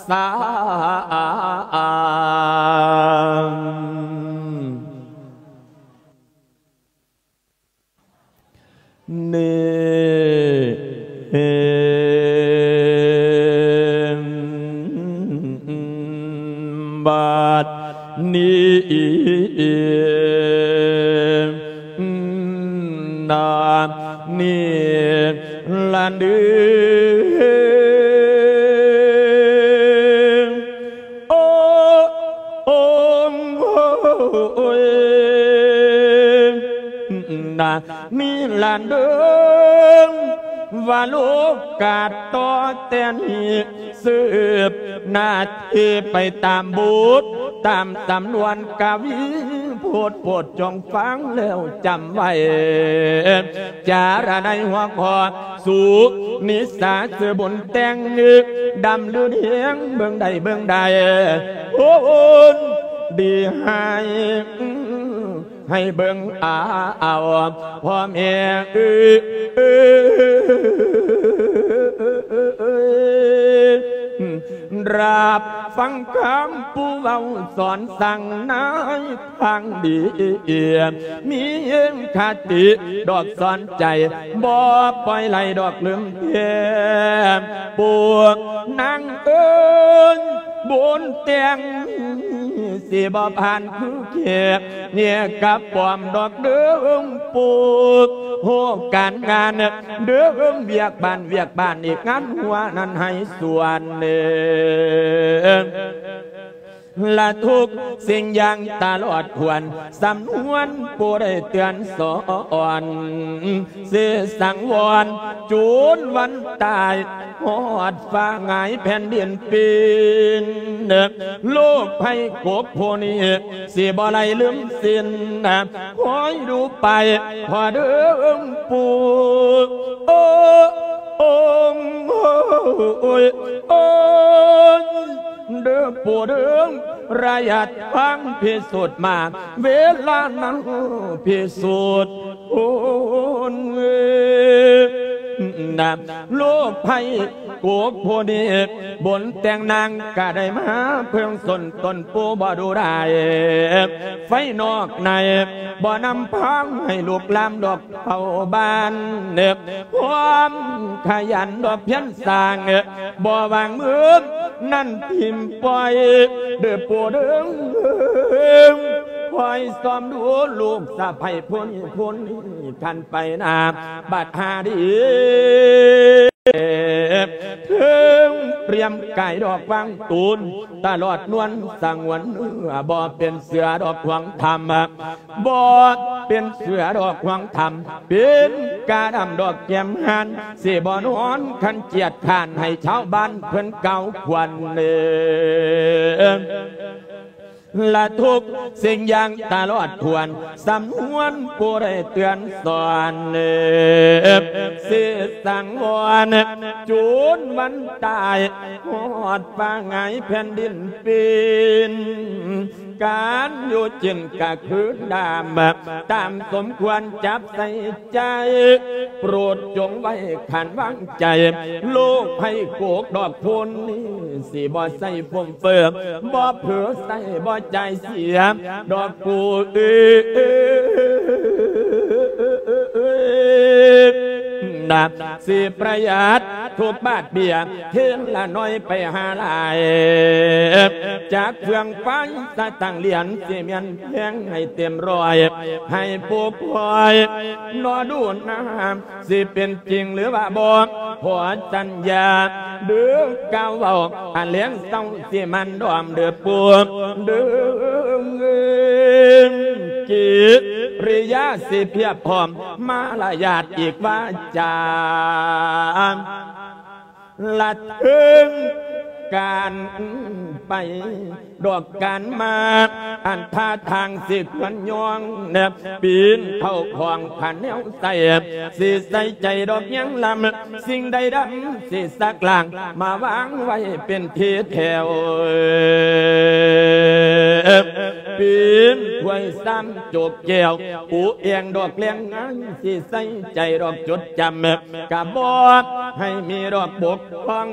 ສາມ ນີ້ ບັດນີ້ ນາ ນີ້ລະເດີ ໂອ ໂອ ໂອຍ ນາ ນີ້ລະເດີ ວ່າໂລກາດຕໍ່ແຕ່ນີ້ ສືບໜ້າທີ່ໄປຕາມບົດ ຕາມສຳນວນກະວີ ໂພດໂພດຈົ່ງຟັງແລ້ວຈຳໄວ້ ຈາລະໄນຫົວຂໍ້ ສຸກນິສາຊື່ບຸນແຕ່ງ ດຳລືນແຮງເບິ່ງໄດ້ເບິ່ງໄດ້ ໂອ້ນດີໃຫ້ ໃຫ້ເບິ່ງເອົາ ພໍ່ແມ່ເອີຍ ຮັບຟັງຄຳຜູ້ເວົ້າສອນສັ່ງໃນທາງດີ ມີຄະຕິດອກສອນໃຈ ບໍ່ປ່ອຍໄຫຼດອກລືມແທ້ ພວກນາງເອີຍ ບຸນແຕ່ງ ຊິບໍ່ຜ່ານຄືແຂກ ແຍກກັບປ້ອມດອກເດີງໂປກ ໂຮກການງານເດີງ ວຽກບ້ານວຽກບ້ານ ອີກງານຫົວນັ້ນໃຫ້ສ່ວນເດີ ລະທຸກສິ່ງຢ່າງຕະຫຼອດຖ້ວນ ສຳນວນຜູ້ໄດ້ເຕືອນສອນ ຊິສັງວອນຈົນວັນຕາຍ ຮອດຟ້າຫງາຍແຜ່ນດິນປິ່ນ ໂລກໄພກົກຜູ້ນີ້ ຊິບໍ່ໄດ້ລືມສິ້ນ ຄອຍດູໄປ ພໍ່ເດີງປູ່ ໂອ້ ໂອ້ຍ ໂອ້ຍ ເດີປູ່ເດີງ ໄລຍະທາງພິສູດມາ ເວລານັ້ນພິສູດ ໂອ້ຍ ນະ ໂລກໄພກົກຜູ້ນີ້ ບຸນແຕ່ງນາງກະໄດ້ມາເພິ່ງສົນຕົນປູ່ບໍ່ດູໄດ້ ໄຟນອກໃນບໍ່ນຳພາໃຫ້ລຸກລາມດອກເຜົາບ້ານ ຄວາມຂະຫຍັນດອກພຽນສ້າງ ບໍ່ວາງມືນັ້ນຖິ້ມປ່ອຍ ເດີປູ່ເດີງ ຄອຍສ່ອມດູລູກສະໃພ້ຜູ້ນີ້ ຜູ້ນີ້ ຄັນໄປໜ້າບັດຫາດີ ເຖິງປ່ຽມກາຍດອກວາງຕູນ ຕະຫຼອດນວນສະຫງວນເນື້ອ ບໍ່ເປັນເສືອດອກຫວງທຳ ບໍ່ເປັນເສືອດອກຫວງທຳ ເປັນກາດຳດອກແກ້ມຫານ ຊິບໍ່ນອນຄັນຈຽດຄ້ານ ໃຫ້ຊາວບ້ານເພິ່ນກ່າວຂວັນເດີ ລະທຸກສິ່ງຢ່າງຕະຫຼອດຖ້ວນ ສຳນວນຜູ້ໄດ້ເຕືອນສອນ ຊິສັງວອນຈົນວັນຕາຍ ຮອດຟ້າຫງາຍແຜ່ນດິນປິ່ນ ການຢູ່ກິນກະຄືດຳ ຕາມສົມຄວນຈັບໃສ່ໃຈ ໂປດຈົ່ງໄວ້ຂັນວາງໃຈ ໂລກໄພກົກດອກໂພນນີ້ ຊິບໍ່ໃສ່ຟຸມເຟີ ບໍ່ເຜີໃຊ້ບໍ່ຈ່າຍເສຍ ດອກປູ່ເອີຍ ນະ ຊິປະຢັດທຸກບາດເບ້ຍ ເທລະໜ້ອຍໄປຫາຫຼາຍ ຈັກເຟືອງໄຟສະຕັງຫຼຽນ ຊິແມ່ນແພງໃຫ້ເຕັມຮ້ອຍ ໃຫ້ປູ່ພອຍ ນອດູນາ ຊິເປັນຈິງຫຼືວ່າບໍ່ ຂໍສັນຍາເດີ ກ່າວເວົ້າອັນແລງເຊົ້າ ຊິໝັ່ນດອມເດີປູ່ເດີ ກິລິຍາຊິພຽບພ້ອມ ມາລະຍາດອີກວາຈາ ລະເຖິງການໄປ ດອກການມາ ອັນທ່າທາງຊິຄວນຍອງ ປີນເຂົ້າຂອງຂັນແນວໃສ່ ຊິໃສ່ໃຈດອກຍາງລຳ ສິ່ງໃດດຳຊິສັກລ້າງ ມາວາງໄວ້ເປັນທີ່ແຖວ ປີນຖ້ວຍຊາມໂຈກແກ້ວ ປູແອງດອກແລງງານ ຊິໃສ່ໃຈດອກຈົດຈຳ ກະບໍ່ໃຫ້ມີດອກບົກ ຂອງ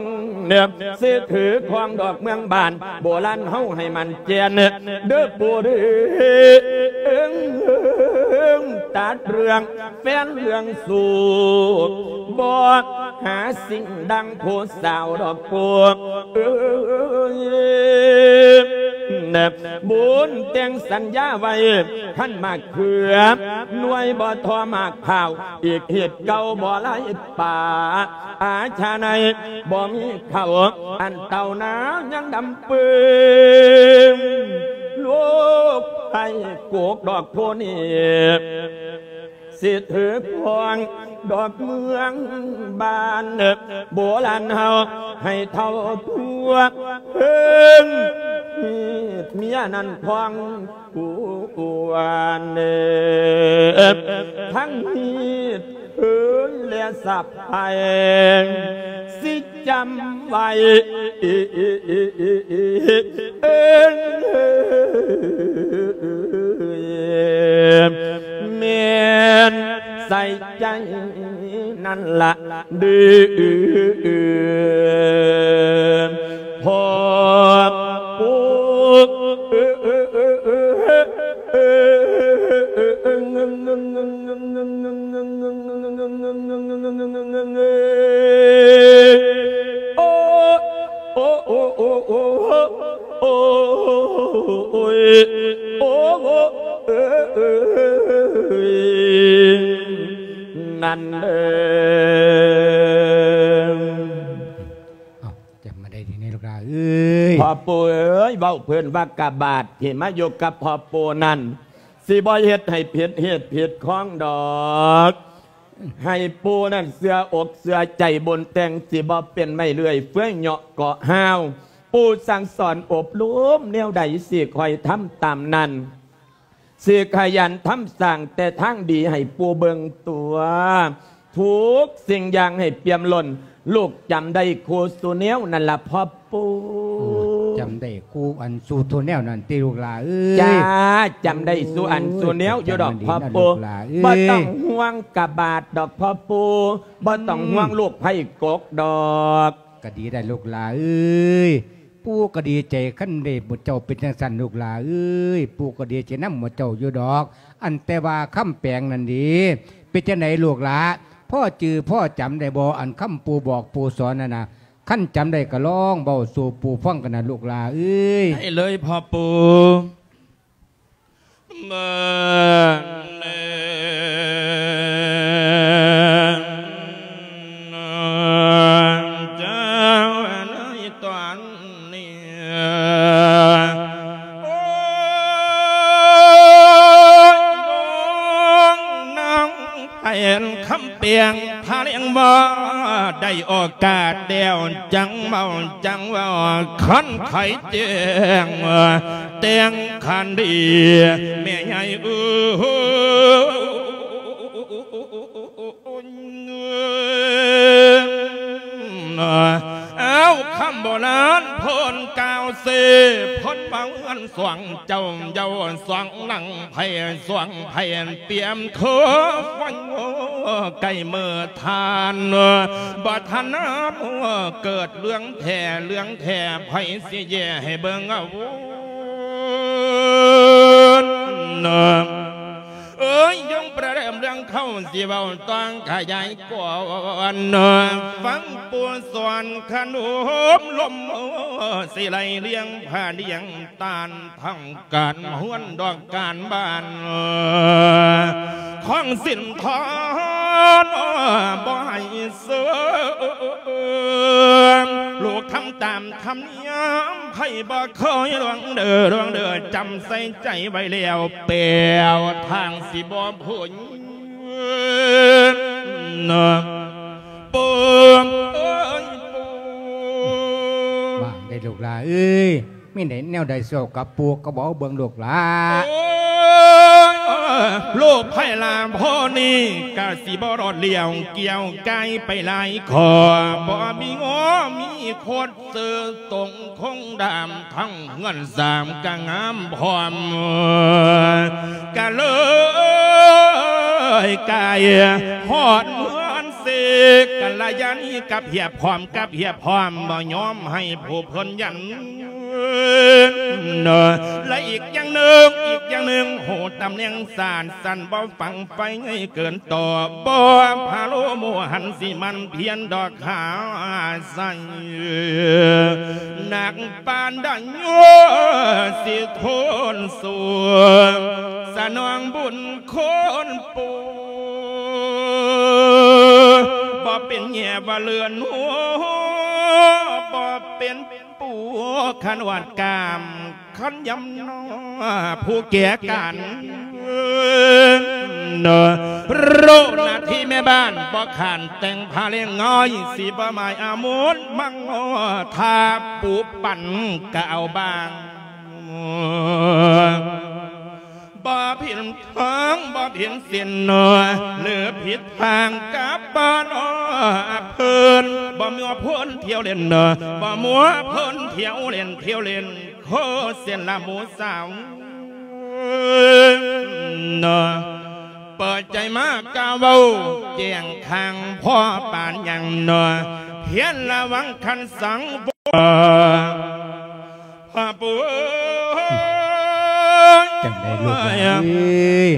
ເນີບ ຊິຖືຄອງດອກເມືອງບ້ານ ໂບລານເຮົາໃຫ້ໝັ້ນແກ່ນ ເດີປູ່ເດີ ຕັດເລື່ອງແຟນເລື່ອງຊູ້ ບໍ່ຫາສິ່ງດັ່ງຜູ້ສາວດອກປູ່ເອີຍ ບຸນແຕ່ງສັນຍາໄວ້ ຄັນໝາກເຂືອ ໜ່ວຍບໍ່ທໍ່ໝາກພ້າວ ອີກຮີດເກົ່າບໍ່ໄຫຼ ປາອາຊາໃນ ບໍ່ມີເຂົ້າ ອັນເຕົ້ານາຍັງດຳປຶ້ງ ລູກໄຜ່ໂກກດອກໂພນີ້ ຊິຖືພອງດອກເມືອງບ້ານ ໂບລານເຮົາໃຫ້ເຖົ້າທົ່ວເພິ່ນ ມີດເມຍນັ້ນພອງ ອວນເອີ ທັງມີດເອີຍ ແລະສະໄພຊິຈຳໄວ້ ເອີ ແມ່ນໃສ່ໃຈນັ້ນລະ ເດີ ພໍ່ປູ່ ໂອ້ ໂອ້ ໂອ້ ໂອ້ ໂອ້ ໂອ້ຍ ໂອ້ ເອີ ເອີ ເອີ ນັ້ນເດີ ເອົ້າ ຈຳມາໄດ້ທີ່ນີ້ລູກຫຼານ. ເອີຍ ພໍ່ປູ່ເອີຍ ເວົ້າເພິ່ນວ່າກະບາດທີ່ມາຢູ່ກັບພໍ່ປູ່ນັ້ນ ຊິບໍ່ເຮັດໃຫ້ຜິດເຫດຜິດຂອງດອກ ໃຫ້ປູ່ນັ້ນເຊື່ອອົກເຊື່ອໃຈ ບຸນແຕ່ງຊິບໍ່ເປັນໄມ້ເລື່ອຍເຟືອຍເຍາະເກາະຮ້າວ ປູ່ສັ່ງສອນອົບຮົມແນວໃດ ຊິຄອຍທຳຕາມນັ້ນ ຊິຂະຫຍັນທຳສ້າງແຕ່ທາງດີໃຫ້ປູ່ເບິ່ງຕົວະ ທຸກສິ່ງຢ່າງໃຫ້ປ່ຽມລົ້ນ ລູກຈຳໄດ້ຄູ່ສູ່ແນວນັ້ນລະພໍ່ປູ່. ໂອ້ ຈຳໄດ້ຄູ່ອັນສູ່ທຸແນວນັ້ນຕິລູກຫຼ້າເອີຍ. ຈ້າ ຈຳໄດ້ສູ່ອັນສູ່ແນວຢູ່ດອກພໍ່ປູ່. ບໍ່ຕ້ອງຫ່ວງກະບາດດອກພໍ່ປູ່ ບໍ່ຕ້ອງຫ່ວງລູກໄພກົກດອກ. ກະດີໄດ໋ລູກຫຼ້າເອີຍ ປູ່ກະດີໃຈຄັນໄດ້ໝູ່ເຈົ້າເປັນຈັ່ງຊັ້ນລູກຫຼ້າເອີຍ ປູ່ກະດີໃຈນຳໝູ່ເຈົ້າຢູ່ດອກ. ອັນແຕ່ວ່າຄຳແປງນັ້ນເດ ເປັນຈັ່ງໃດລູກຫຼ້າ ພໍຈື່ພໍຈຳໄດ້ບໍ່ ອັນຄຳປູ່ບອກປູ່ສອນນັ້ນນະ ຄັນຈຳໄດ້ກະລອງເວົ້າສູ່ປູ່ຟັງກັນນະລູກຫຼ້າເອີຍ. ໄດ້ເລີຍພໍ່ປູ່. ເມື່ອແລງເຈົ້າໃນຕອນນີ້ ໂອ້ຍ ນ້ອງນາງແພນຄຳແປງ ພາແລງບໍ່ໄດ້ໂອກາດແລ້ວ ຈັ່ງເວົ້າຈັ່ງເວົ້າ ຄັນໄຂແຈ້ງ ແຕ່ງຂັນດີແມ່ໃຫຍ່ເອີຍ. ອ້າວ ຄຳໂບລານເພິ່ນກ່າວເສ ເພິ່ນວ່າເຮືອນສອງເຈົ້າເຍົາສອງຫຼັງ ໃຜສອງໃຜປຽມຄືໄຟ ໃກ້ເມີທ່ານ ບໍ່ທັນນາເກີດເລື່ອງແທ້ເລື່ອງແທ້ ໃຜຊິແຍກໃຫ້ເບິ່ງເອົາ. ເອີຍ ຍົງປະເດີມເລື່ອງເຂົາ ຊິເວົ້າຕ້ອງຂະຫຍາຍກວ້າງ ຟັງປູ່ສອນຂະໜົມລົມ ຊິໄລ່ລຽງຜ້າລຽງຕານ ທັງການເຮືອນດອກການບ້ານ ຂອງສິນທອນບໍ່ໃຫ້ເສື່ອມ ລູກທຳຕາມທຳນຽມ ໃຜບໍ່ເຄີຍລ່ວງເດີ ລ່ວງເດີ ຈຳໃສ່ໃຈໄວ້ແລ້ວ ແປວທາງຊິບໍ່ພົ້ນ ປູ່ເອີຍ ປູ່. ວ່າໄດ້ລູກຫຼ້າເອີຍ ມີແນວໃດຊິເວົ້າກັບປູ່ກໍເວົ້າເບິ່ງລູກຫຼ້າ. ໂອ້ຍ ລູກໃຜຫຼ້າພໍ່ນີ້ ກະຊິບໍ່ລອດລ້ຽວ ກ່ຽວກາຍໄປຫຼາຍຂໍ້ ບໍ່ມີງໍມີຄົດ ເສີຕົງຄົງດາມ ທັງເຮືອນສາມກະງາມພ້ອມ ກະເລີຍກາຍຮອດເຮືອນເສກ ກະລະຍານີກັບຮຽບພ້ອມ ກັບຮຽບພ້ອມ ບໍ່ຍອມໃຫ້ຜູ້ເພິ່ນຢັນ ແລະອີກຢ່າງໜຶ່ງ ອີກຢ່າງໜຶ່ງ ຮູ້ຕຳແໜ່ງສານ ສັນບໍ່ຝັງໄຟໃຫຍ່ເກີນຕໍ່ ບໍ່ພາໂລໝູ່ຫັນ ຊິໝັ່ນພຽນດອກຫາໃສ່ ໜັກປານໃດ ຊິທົນສູ້ ສະໜອງບຸນຄຸນປູ່ ບໍ່ເປັນແຍ່ວ່າເລື່ອນຫົວ ບໍ່ເປັນ ປູ່ຂະນວດກາມ ຄັນຍຳນອ ຜູ້ແກ່ການ ໂລກໜ້າທີ່ແມ່ບ້ານ ບໍ່ຂານແຕ່ງຜ້າແລງງອຍ ຊິບໍ່ໝາຍອາມຸນມັງ ຖ້າປູ່ປັນກະເອົາບາງ ບໍ່ຜິດທາງ ບໍ່ຜິດສິນ ຫຼືຜິດທາງກັບບ້ານເພິ່ນ ບໍ່ມົວເພິ່ນທ່ຽວເຫຼັ້ນ ບໍ່ມົວເພິ່ນທ່ຽວເຫຼັ້ນ ທ່ຽວເຫຼັ້ນ ໂຄເສັ້ນລະໝູ່ສາວ ເປີດໃຈມາກ້າເວົ້າ ແຈ້ງຂ້າງພໍ່ປານຫຍັງ ພຽນລະວັງຄັນສັງ ພໍ່ປູ່ເອີຍ ຈັ່ງໃດລູກເອີຍ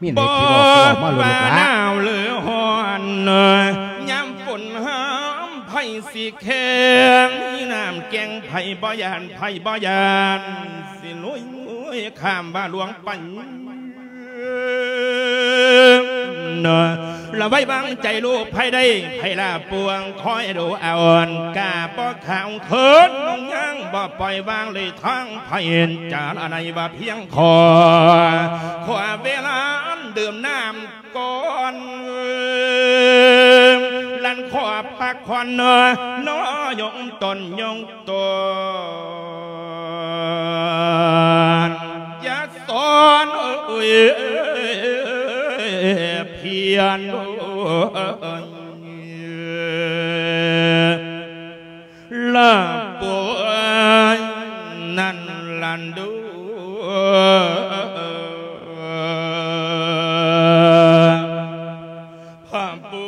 ມີແນວທີ່ເວົ້າກໍເວົ້າມາໂລດລູກຫຼ້າ ບໍ່ວ່າໜາວຫຼືຮ້ອນ ຍາມຝົນຫາມໄຜຊິແຂງ ມີນ້ຳແກ່ງໄຜບໍ່ຢ້ານ ໄຜບໍ່ຢ້ານ ຊິລຸຍຂ້າມວ່າຫຼວງໄປ ລະໄວ້ວາງໃຈລູກໃຜໄດ້ ໃຜລະປວງຄອຍດູອາວອນ ກາບໍ່ຂາວເຂີນ ຍັງບໍ່ປ່ອຍວາງເລີຍທາງໃຜ ຈາລະໄນວ່າພຽງຂໍ ຂໍເວລາດື່ມນ້ຳກ່ອນ ລັນຂໍພັກຜ່ອນ ນອຍົງຕົນຍົງ ຕອນຢ່າສອນເອີຍພຽນ ລະປ່ວຍນັ້ນລະດູ. ພະປູ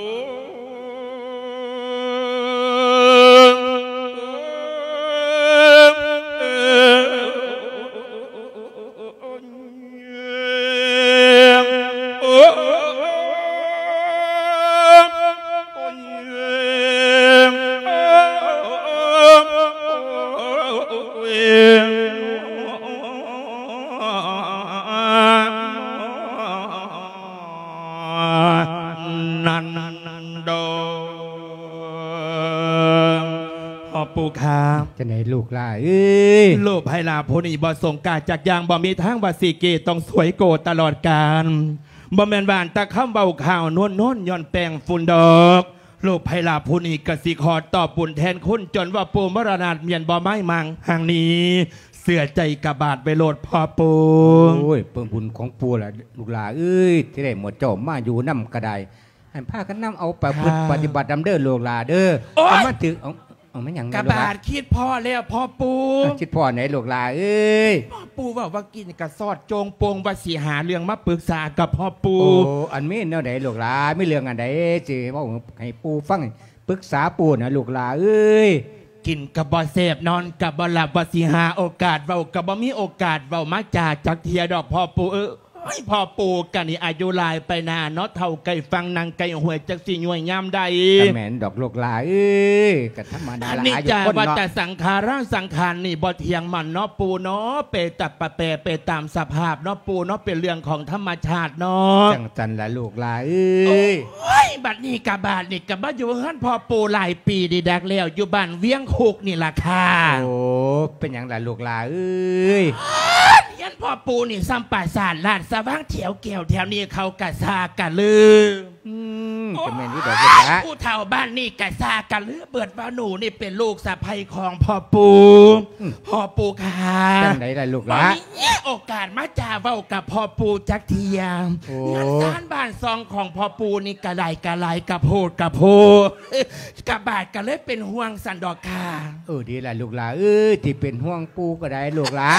ນັນດອງ ພໍ່ປູ່ຂ້າ ຈັ່ງໃດລູກຫຼ້າເອີຍ? ລູກໃຜລະຜູ້ນີ້ບໍ່ສົງກາຈັກຢ່າງ ບໍ່ມີທາງວ່າຊິເກ ຕ້ອງສວຍໂກຕະຫຼອດການ ບໍ່ແມ່ນວ່າແຕ່ຄຳເວົ້າຂ່າວນວນໆ ຍ້ອນແປ້ງຝຸ່ນດອກ. ລູກໃຜລະຜູ້ນີ້ກະຊິຂໍຕອບບຸນແທນຄຸນ ຈົນວ່າປູ່ມໍລະນາດ ແມ່ນບໍ່ໄມ້ມັງຫາງນີ້ ເຊື່ອໃຈກະບາດໄວ້ໂລດພໍ່ປູ່. ໂອ້ຍ ເບິ່ງບຸນຂອງປູ່ລະລູກຫຼ້າເອີຍ ທີ່ໄດ້ໝູ່ເຈົ້າມາຢູ່ນຳກະໄດ້ ໃຫ້ພາກັນນຳເອົາໄປປະພຶດປະຕິບັດນຳເດີລູກຫຼ້າເດີ. ໂອ້ຍ ເອົາມາຖືກ ເອົາ ເອົາແມ່ນຫຍັງ ກະບາດຄິດພໍ້ແລ້ວພໍ່ປູ່. ຄິດພໍ້ໃດ໋ລູກຫຼ້າເອີຍ? ພໍ່ປູ່ເວົ້າວ່າກິນກະຊອດໂຈງໂປ່ງ ວ່າຊິຫາເລື່ອງມາປຶກສາກັບພໍ່ປູ່. ໂອ້ ອັນແມ່ນແນວໃດລູກຫຼ້າ? ມີເລື່ອງອັນໃດຊິເວົ້າໃຫ້ປູ່ຟັງ ປຶກສາປູ່ນະລູກຫຼ້າເອີຍ? ກິນກະບໍ່ແຊບ ນອນກະບໍ່ຫຼັບ ວ່າຊິຫາໂອກາດເວົ້າກະບໍ່ມີໂອກາດເວົ້າມາຈາຈັກເທື່ອດອກພໍ່ປູ່ເອີຍ. ໂອ້ຍ ພໍ່ປູ່ກະນີ້ອາຍຸຫຼາຍໄປໜ້າເນາະ ເຖົ້າໃກ້ຝັ່ງນັ່ງໃກ້ຫ້ວຍ ຈັກຊິຍ່ວຍຍາມໃດ. ກະແມ່ນດອກລູກຫຼ້າເອີຍ ກະທຳມະດາລະ ອາຍຸຄົນເນາະ. ອະນິດຈັງວັດຕະສັງຂາຣາ ສັງຂານນີ້ບໍ່ທ່ຽງໝັ້ນເນາະປູ່ເນາະ ເປຕະປະແປ ເປຕາມສະພາບເນາະປູ່ເນາະ ເປັນເລື່ອງຂອງທຳມະຊາດເນາະ. ຈັ່ງຊັ້ນລະລູກຫຼ້າເອີຍ. ໂອ້ຍ ບັດນີ້ກະບາດນີ້ກະມາຢູ່ເຮືອນພໍ່ປູ່ຫຼາຍປີດີດັກແລ້ວ ຢູ່ບ້ານວຽງຄຸກນີ້ລະຄ່າ. ໂອ້ ເປັນຫຍັງລະລູກຫຼ້າເອີຍ? ເຮືອນພໍ່ປູ່ນີ້ສ່ຳປາສາດລາດສະຫວ່າງ ແຖວແກ້ວແຖວນີ້ເຂົາກະຊ່າກະລື. ອືມ ກະແມ່ນຢູ່ດອກລູກຫຼ້າ ຜູ້ເຖົ້າບ້ານນີ້ກະຊ່າກະລືເບິດວ່າໜູນີ້ເປັນລູກສະໃພ້ຂອງພໍ່ປູ່. ອືມ ພໍ່ປູ່ຂ້າ ຈັ່ງໃດລະລູກຫຼ້າ? ບໍ່ມີໂອກາດມາຈາເວົ້າກັບພໍ່ປູ່ຈັກເທື່ອ. ໂອ້ ເຮືອນຊານບ້ານຊ່ອງຂອງພໍ່ປູ່ນີ້ກະໄດ້ກະຫຼາຍ ກະໂພດກະໂພ ກະບາດກະເລີຍເປັນຫ່ວງຊັ້ນດອກຄ່າ. ເອີ ດີລະລູກຫຼ້າເອີຍ ທີ່ເປັນຫ່ວງປູ່ກະໄດ້ລູກຫຼ້າ.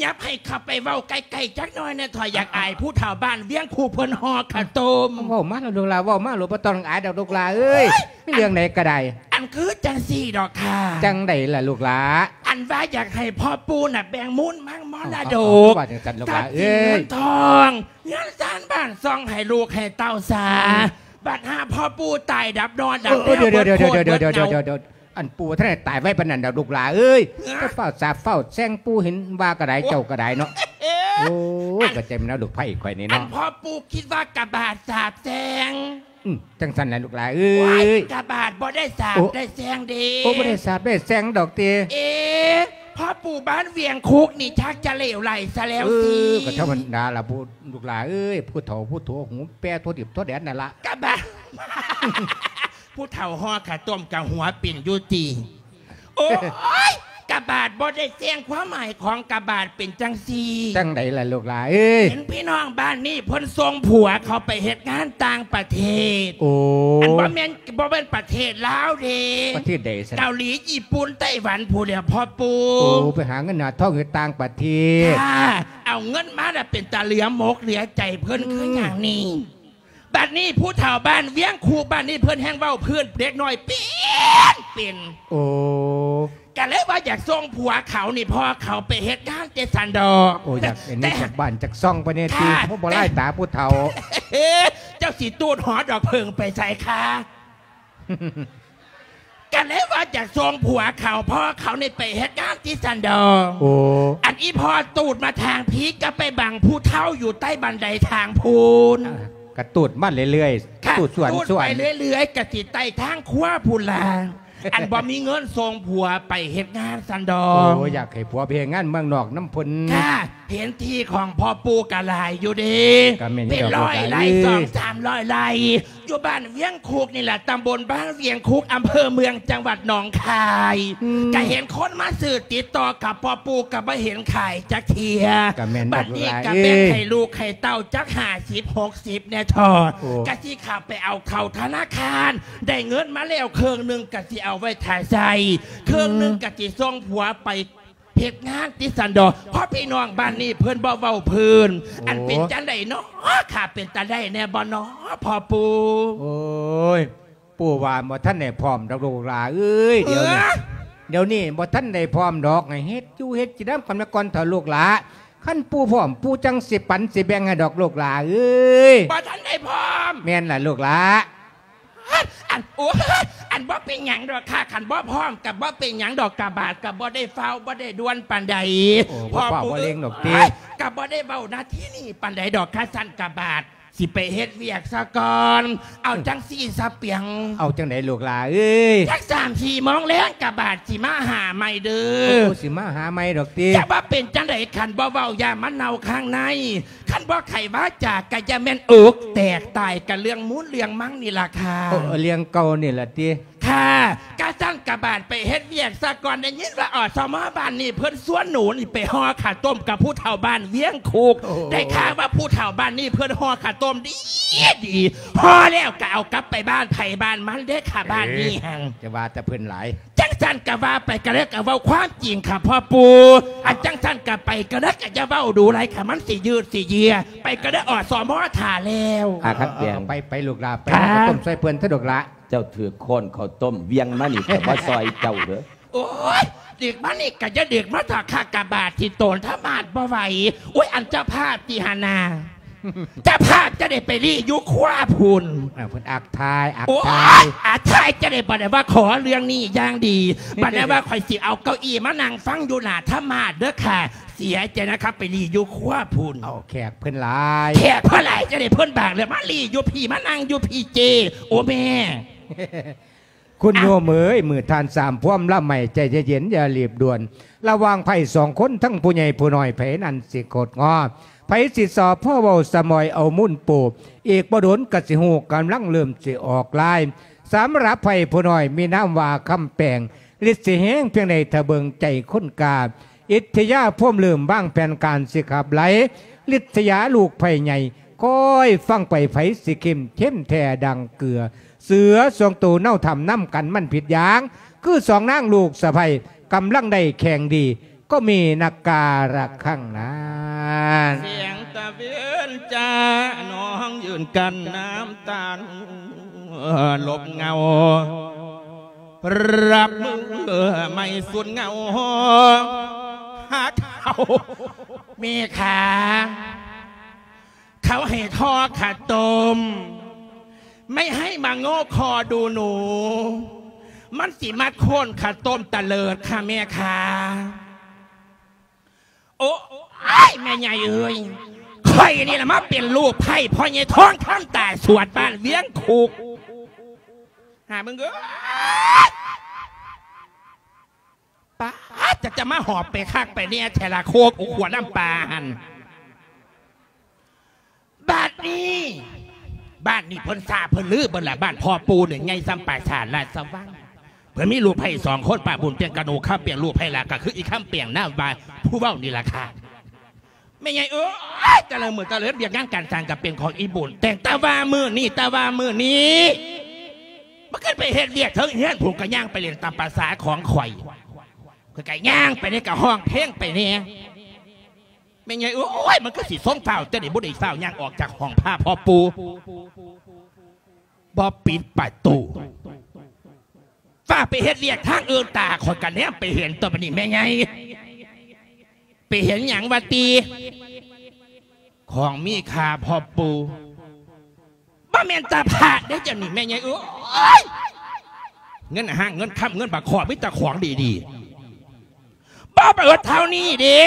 ຫຍັບໃຫ້ເຂົ້າໄປເວົ້າໃກ້ໆຈັກໜ້ອຍແດ່ ຂ້ອຍຢາກອາຍຜູ້ເຖົ້າບ້ານວຽງຄຸກເພິ່ນຫໍ່ເຂົ້າຕົ້ມ. ເວົ້າມາໂລດລູກຫຼ້າ ເວົ້າມາໂລດ ບໍ່ຕ້ອງອາຍດອກລູກຫຼ້າເອີຍ. ໂອ້ຍ ມີເລື່ອງໃດກະໄດ້. ອັນຄືຈັ່ງຊີ້ດອກຄ່າ. ຈັ່ງໃດລະລູກຫຼ້າ? ອັນວ່າຢາກໃຫ້ພໍ່ປູ່ນະແບ່ງມູນມັງມໍລະດົກ ເອົາ ເອົາ ເອົາ ວ່າຈັ່ງຊັ້ນລູກຫຼ້າເອີຍ ຊັບສິນເງິນທອງ ເຮືອນຊານບ້ານຊ່ອງໃຫ້ລູກໃຫ້ເຕົ້າຊາ. ອືມ ບັດຫາພໍ່ປູ່ຕາຍດັບນອນດັບແນວ ເອີ ເອີ ເອີ ເບິດໂຄດເບິດເຫງົາ. ອັນປູ່ບໍ່ທັນໄດ້ຕາຍໄວປານນັ້ນດອກລູກຫຼ້າເອີຍ. ເອີ ເຈົ້າຟ້າວສາບຟ້າວແຊ່ງປູ່ ເຫັນວ່າກະໄດ້ ເຈົ້າກະໄດ້ເນາະ. ໂອ້ຍ ກະເຕັມແລ້ວລູກໃພ້ຂ້ອຍນີ້ເນາະ. ອັນພໍ່ປູ່ຄິດວ່າກະບາດສາບແຊ່ງ. ອືມ ຈັ່ງຊັ້ນລະລູກຫຼ້າເອີຍ. ໂອ້ຍ ກະບາດບໍ່ໄດ້ສາບ ໂອ້ ໄດ້ແຊ່ງເດ້. ໂອ້ ບໍ່ໄດ້ສາບໄດ້ແຊ່ງດອກຕິ. ເອ ພໍ່ປູ່ບ້ານວຽງຄຸກນີ້ຊັກຈະເຫຼວໄຫຼຊະແລ້ວ ເອີ ຊິ. ກະທຳມະດາລະ ຜູ້ ລູກຫຼ້າເອີຍ ຜູ້ເຖົ້າຜູ້ໂຖຫູແປທົ່ວດິບທົ່ວແດນນັ້ນລະ. ກະບາດ ຜູ້ເຖົ້າຫໍ່ຂະຕົ້ມກະຫົວປິ່ນຢູ່ຕິ. ໂອ້ຍ ກະບາດບໍ່ໄດ້ແຊ່ງ ຄວາມໝາຍຂອງກະບາດເປັນຈັ່ງຊີ້. ຈັ່ງໃດລະລູກຫຼ້າເອີຍ? ເຫັນພີ່ນ້ອງບ້ານນີ້ເພິ່ນສົ່ງຜົວເຂົາໄປເຮັດງານຕ່າງປະເທດ. ໂອ້ ອັນບໍ່ແມ່ນ ບໍ່ແມ່ນປະເທດລາວເດ້. ປະເທດໃດຊັ້ນ? ເກົາຫຼີ ຍີ່ປຸ່ນ ໄຕ້ຫວັນພຸ້ນແຫຼະພໍ່ປູ່. ໂອ້ ໄປຫາເງິນຫາທອງຢູ່ຕ່າງປະເທດ. ເອົາເງິນມາລະເປັນຕາເຫຼືອມົກເຫຼືອໃຈເພິ່ນ ອືມ ຄືຫຍັງນີ້. ບັດນີ້ຜູ້ເຖົ້າບ້ານວຽງຄູບ້ານນີ້ເພິ່ນແຮ່ງເວົ້າພື້ນເດັກນ້ອຍເປັນເປັນ. ໂອ້ ກະເລີຍວ່າຢາກສົ່ງຜົວເຂົານີ້ ພໍ່ເຂົາໄປເຮັດງານເດຊັ້ນດອກ. ໂອ້ ຢາກເຫັນ ແຕ່ ຈັກບ້ານຈັກຊ່ອງໄປແດ່ຕິ. ໂອ້ ບໍ່ລາຍຕາຜູ້ເຖົ້າ. ເຈົ້າຊິຕູດຫໍດອກເຜິ້ງໄປໃສຄະ? ກະເລີຍວ່າຢາກສົ່ງຜົວເຂົາ ພໍ່ເຂົານີ້ໄປເຮັດງານເດຊັ້ນດອກ. ໂອ້ ອັນອີ່ພໍ່ຕູດມາທາງພີ້ ກະໄປບັງຜູ້ເຖົ້າຢູ່ໃຕ້ບັນໄດທາງພຸ້ນ. ກະຕູດມາເລື້ອຍໆ ຕູດສວນ ຕູດໄປເລື້ອຍໆ ກະຊິໄຕ້ທາງຄົວພຸ້ນລະ ອັນບໍ່ມີເງິນສົ່ງຜົວໄປເຮັດງານຊັ້ນດອກ. ໂອ້ ຢາກໃຫ້ຜົວໄປເຮັດງານເມືອງນອກນຳເພິ່ນ. ເຫັນທີ່ຂອງພໍ່ປູ່ກະຫຼາຍຢູ່ເດ້ ເປັນຮ້ອຍໄຮ່ ສອງສາມຮ້ອຍໄຮ່ ຢູ່ບ້ານວຽງຄຸກນີ້ລະ ຕຳບົນບ້ານວຽງຄຸກ ອຳເພີເມືອງ ຈັງຫວັດໜອງຄາຍ. ກະເຫັນຄົນມາຊື້ຕິດຕໍ່ກັບພໍ່ປູ່ ກະບໍ່ເຫັນຂາຍຈັກເທື່ອ. ບັດນີ້ກະແບ່ງໃຫ້ລູກໃຫ້ເຕົ້າຈັກຫ້າສິບ ຫົກສິບແດ່ເທາະ. ກະຊິເຂົ້າໄປເອົາເຂົ້າທະນາຄານ ໄດ້ເງິນມາແລ້ວເຄິ່ງໜຶ່ງ ກະຊິເອົາໄວ້ຖ້າໃຊ້ ເຄິ່ງໜຶ່ງກະຊິສົ່ງຜົວໄປ ເຮັດງານຕິສັນດອກ ເພາະພີ່ນ້ອງບ້ານນີ້ເພິ່ນບໍ່ເວົ້າພື້ນ. ອັນເປັນຈັ່ງໃດເນາະ ຂ້າເປັນຕາໄດ້ແດ່ບໍ່ເນາະ ພໍ່ປູ່? ໂອ້ຍ ປູ່ວ່າບໍ່ທັນໄດ້ພ້ອມດອກລູກຫຼ້າເອີຍ ດຽວນີ້ ດຽວນີ້ບໍ່ທັນໄດ້ພ້ອມດອກ ໃຫ້ເຮັດຢູ່ເຮັດກິນນຳກັນມາກ່ອນເຖາະລູກຫຼ້າ. ຄັນປູ່ພ້ອມ ປູ່ຈັ່ງຊິປັນຊິແບ່ງໃຫ້ດອກລູກຫຼ້າເອີຍ. ບໍ່ທັນໄດ້ພ້ອມ? ແມ່ນລະລູກຫຼ້າ. ອັນ ໂອ້ຍ ອັນບໍ່ເປັນຫຍັງດອກຄ່າ ຄັນບໍ່ພ້ອມກະບໍ່ເປັນຫຍັງດອກ ກະບາດກະບໍ່ໄດ້ຟ້າວບໍ່ໄດ້ດ່ວນປານໃດ. ພໍ່ປູ່ ບໍ່ຟ້າວບໍ່ເລັ່ງດອກຕິ ກະບໍ່ໄດ້ເວົ້ານາທີນີ້ປານໃດດອກ. ຄັນຊັ້ນກະບາດຊິໄປເຮັດວຽກສາກ່ອນ. ເອົາຈັ່ງຊີ້ສາປຽງ ເອົາຈັ່ງໃດລູກຫຼ້າເອີຍ? ຈັກສາມສີ່ໂມງແລງກະບາດຊິມາຫາໃໝ່ເດີ. ໂອ້ ຊິມາຫາໃໝ່ດອກຕິ. ຈະວ່າເປັນຈັ່ງໃດ ຄັນບໍ່ເວົ້າຢ້ານມັນເນົ່າຂ້າງໃນ. ຄັນບໍ່ໄຂວາຈາກະຢ່າແມ່ນອົກແຕກຕາຍ ກະເລື່ອງມູນເລື່ອງມັງນີ້ລະຄ່າ. ເອີ ເລື່ອງເກົ່ານີ້ລະຕິ. ຄ່າ ກະຊັ້ນກະບາດໄປເຮັດວຽກສາກ່ອນ. ໄດ້ຍິນວ່າ ອສມ ບ້ານນີ້ເພິ່ນຊວນໜູນີ້ໄປຫໍ່ເຂົ້າຕົ້ມກັບຜູ້ເຖົ້າບ້ານວຽງຄຸກ. ໄດ້ຂ່າວວ່າຜູ້ເຖົ້າບ້ານນີ້ເພິ່ນຫໍ່ເຂົ້າຕົ້ມດີດີ ຫໍ່ແລ້ວກະເອົາກັບໄປບ້ານໃຜບ້ານມັນເດ້ຄ່າ ບ້ານນີ້ຫັ້ນ. ຈະວ່າແຕ່ເພິ່ນຫຼາຍ. ຈັ່ງຊັ້ນກະວ່າໄປກະເລີຍ ກະເວົ້າຄວາມຈິງຄ່າພໍ່ປູ່. ອັນຈັ່ງຊັ້ນກະໄປກະເລີຍ ກະຢ່າເວົ້າດູຫຼາຍຄ່າ ມັນຊິຍືດຊິເຍືອ. ໄປກະເລີຍ ອສມ ຖ້າແລ້ວ. ອາ ຄັນແປງ ໄປ ໄປລູກຫຼ້າ ໄປເອົາເຂົ້າຕົ້ມຊ່ອຍເພິ່ນເຖາະລູກຫຼ້າ. ເຈົ້າຖືກຄ້ອນເຂົ້າຕົ້ມວຽງມານີ້ ຂ້ອຍບໍ່ຊ່ອຍເຈົ້າເດີ. ໂອ້ຍ ດຶກມານີ້ກະຢ່າດຶກມາເຖາະຄ່າ ກະບາດທີ່ໂຕນທະມາດບໍ່ໄຫວ. ໂອ້ຍ ອັນເຈົ້າພາບຕິຫັ້ນນາ ເຈົ້າພາບຈະໄດ້ໄປລີ້ຢູ່ຄົວພຸ້ນ. ເອີ ເພິ່ນອັກຖ່າຍ ອັກຖ່າຍ. ໂອ້ຍ ອັກຖ່າຍຈະໄດ້ ບັດໄດ້ວ່າຂໍເລື່ອງນີ້ຢ່າງດີ ບັດໄດ້ວ່າຂ້ອຍຊິເອົາເກົ້າอี้ມານັ່ງຟັງຢູ່ໜ້າທະມາດເດີຄ່າ. ເສຍໃຈນະຄັບ ໄປລີ້ຢູ່ຄົວພຸ້ນ. ເອົາແຂກເພິ່ນຫຼາຍ ແຂກເພິ່ນຫຼາຍຈະໄດ້ ເພິ່ນບາກເລີຍ ມາລີ້ຢູ່ພີ້ ມານັ່ງຢູ່ພີ້ເຈ້. ໂອ້ແມ່ ຄຸນໂຍມເອີຍ ມື້ທ່ານສາມພວມລຳໃໝ່ ໃຈເຢັນໆ ຢ່າລີບດ່ວນ ລະຫວ່າງໃຜສອງຄົນ ທັງຜູ້ໃຫຍ່ຜູ້ນ້ອຍ ໃຜນັ້ນຊິຄົດງໍ ໃຜຊິຊອບພໍເວົ້າສະໝອຍເອົາມູນປູ ອີກບໍ່ດົນກະຊິຮູ້ ກຳລັງເລີ່ມຊິອອກລາຍ. ສຳລັບໃຜຜູ້ນ້ອຍມີນາມວ່າຄຳແປງ ລິດຊິແຮງພຽງໃດ ຖ້າເບິ່ງໃຈຄົນກາ ອິດທິຍາພວມເລີ່ມວາງແຜນການຊິຂັບໄລ່ ລິດສະຍາລູກໃຜໃຫຍ່ ຄອຍຟັງໄປ ໃຜຊິເຂັ້ມເຂັ້ມແທ້ດັ່ງເກືອ ເສືອສອງໂຕເນົາຖ້ຳນຳກັນມັນຜິດຢ່າງ ຄືສອງນາງລູກສະໃພ້ກຳລັງໄດ້ແຂ່ງດີ ກໍມີນັກກາລະຄັງນັ້ນ. ສຽງຕະເວນຈ້າ ນ້ອງຢືນກັ້ນນ້ຳຕາ ຫຼົບເຫງົາ ຮັບມືໃໝ່ສຸດເຫງົາ ຫາເຂົາ ແມ່ຂາ ເຂົາໃຫ້ທໍ້ຂາຕົ້ມ ໄມ່ໃຫ້ມາໂງ່ຄໍດູໜູ ມັນຊິມາໂຄ່ນຂາຕົ້ມຕະເລີດຄ່ະແມ່ຂາ. ໂອ້ຍ ແມ່ໃຫຍ່ເອີຍ ຂ້ອຍນີ້ລະມາເປັນລູກໃພ້ພໍ່ໃຫຍ່ທອງຄຳຕາສວນບ້ານວຽງຄຸກ ຫາມຶງເອີຍ ປາດ ຈະ ຈະມາຫອບໄປຄັກໄປແນ່ແທ້ລະ ໂຄກອຸຂົວນ້ຳປາຫັ້ນ. ບາດນີ້ ບ້ານນີ້ເພິ່ນຊາເພິ່ນລືເບິດລະ ບ້ານພໍ່ປູ່ນີ້ໃຫຍ່ສ່ຳປາສາດລາຊະວັງ ເພິ່ນມີລູກໃພ້ສອງຄົນ ປ້າບຸນເປັນກະໜູ ຄຳເປງ ລູກໃພ້ລະກະຄືອີຄຳເປງນາມວ່າຜູ້ເວົ້ານີ້ລະຄ່ະ. ແມ່ໃຫຍ່ເອີຍ ແຕ່ລະມື້ແຕ່ລະເດືອນ ວຽກງານການສ້າງກະເປັນຂອງອີບຸນແຕ່ງ ແຕ່ວ່າມື້ນີ້ ແຕ່ວ່າມື້ນີ້ ມັນຂຶ້ນໄປເຮັດວຽກເທິງເຮືອນພຸ້ນ ກະຍ່າງໄປຫຼິ້ນຕາມປາສາຂອງຂ້ອຍ ຂ້ອຍກະຍ່າງໄປແດ່ ກະຮ້ອງເພງໄປແດ່. ແມ່ໃຫຍ່ເອີຍ ມັນຄືຊິຊົງຟ້າວ ຈັ່ງໃດບໍ່ໄດ້ຟ້າວຍ່າງອອກຈາກຫ້ອງພາພໍ່ປູ່ ບໍ່ປິດປະຕູ ຟ້າວໄປເຮັດວຽກທາງອື່ນ ຕາຂ້ອຍກະແນມໄປເຫັນຕົວະ ບາດນີ້ແມ່ໃຫຍ່ ໄປເຫັນຫຍັງວະຕິ ຂອງມີຄ່າພໍ່ປູ່ ບໍ່ແມ່ນຕາພາດເດ້ ຈັ່ງນີ້ແມ່ໃຫຍ່ເອີຍ ເງິນຫ້າງເງິນຄຳເງິນບາກຄໍ ມີແຕ່ຂອງດີໆ ບໍ່ເບີດເທົ່ານີ້ເດ້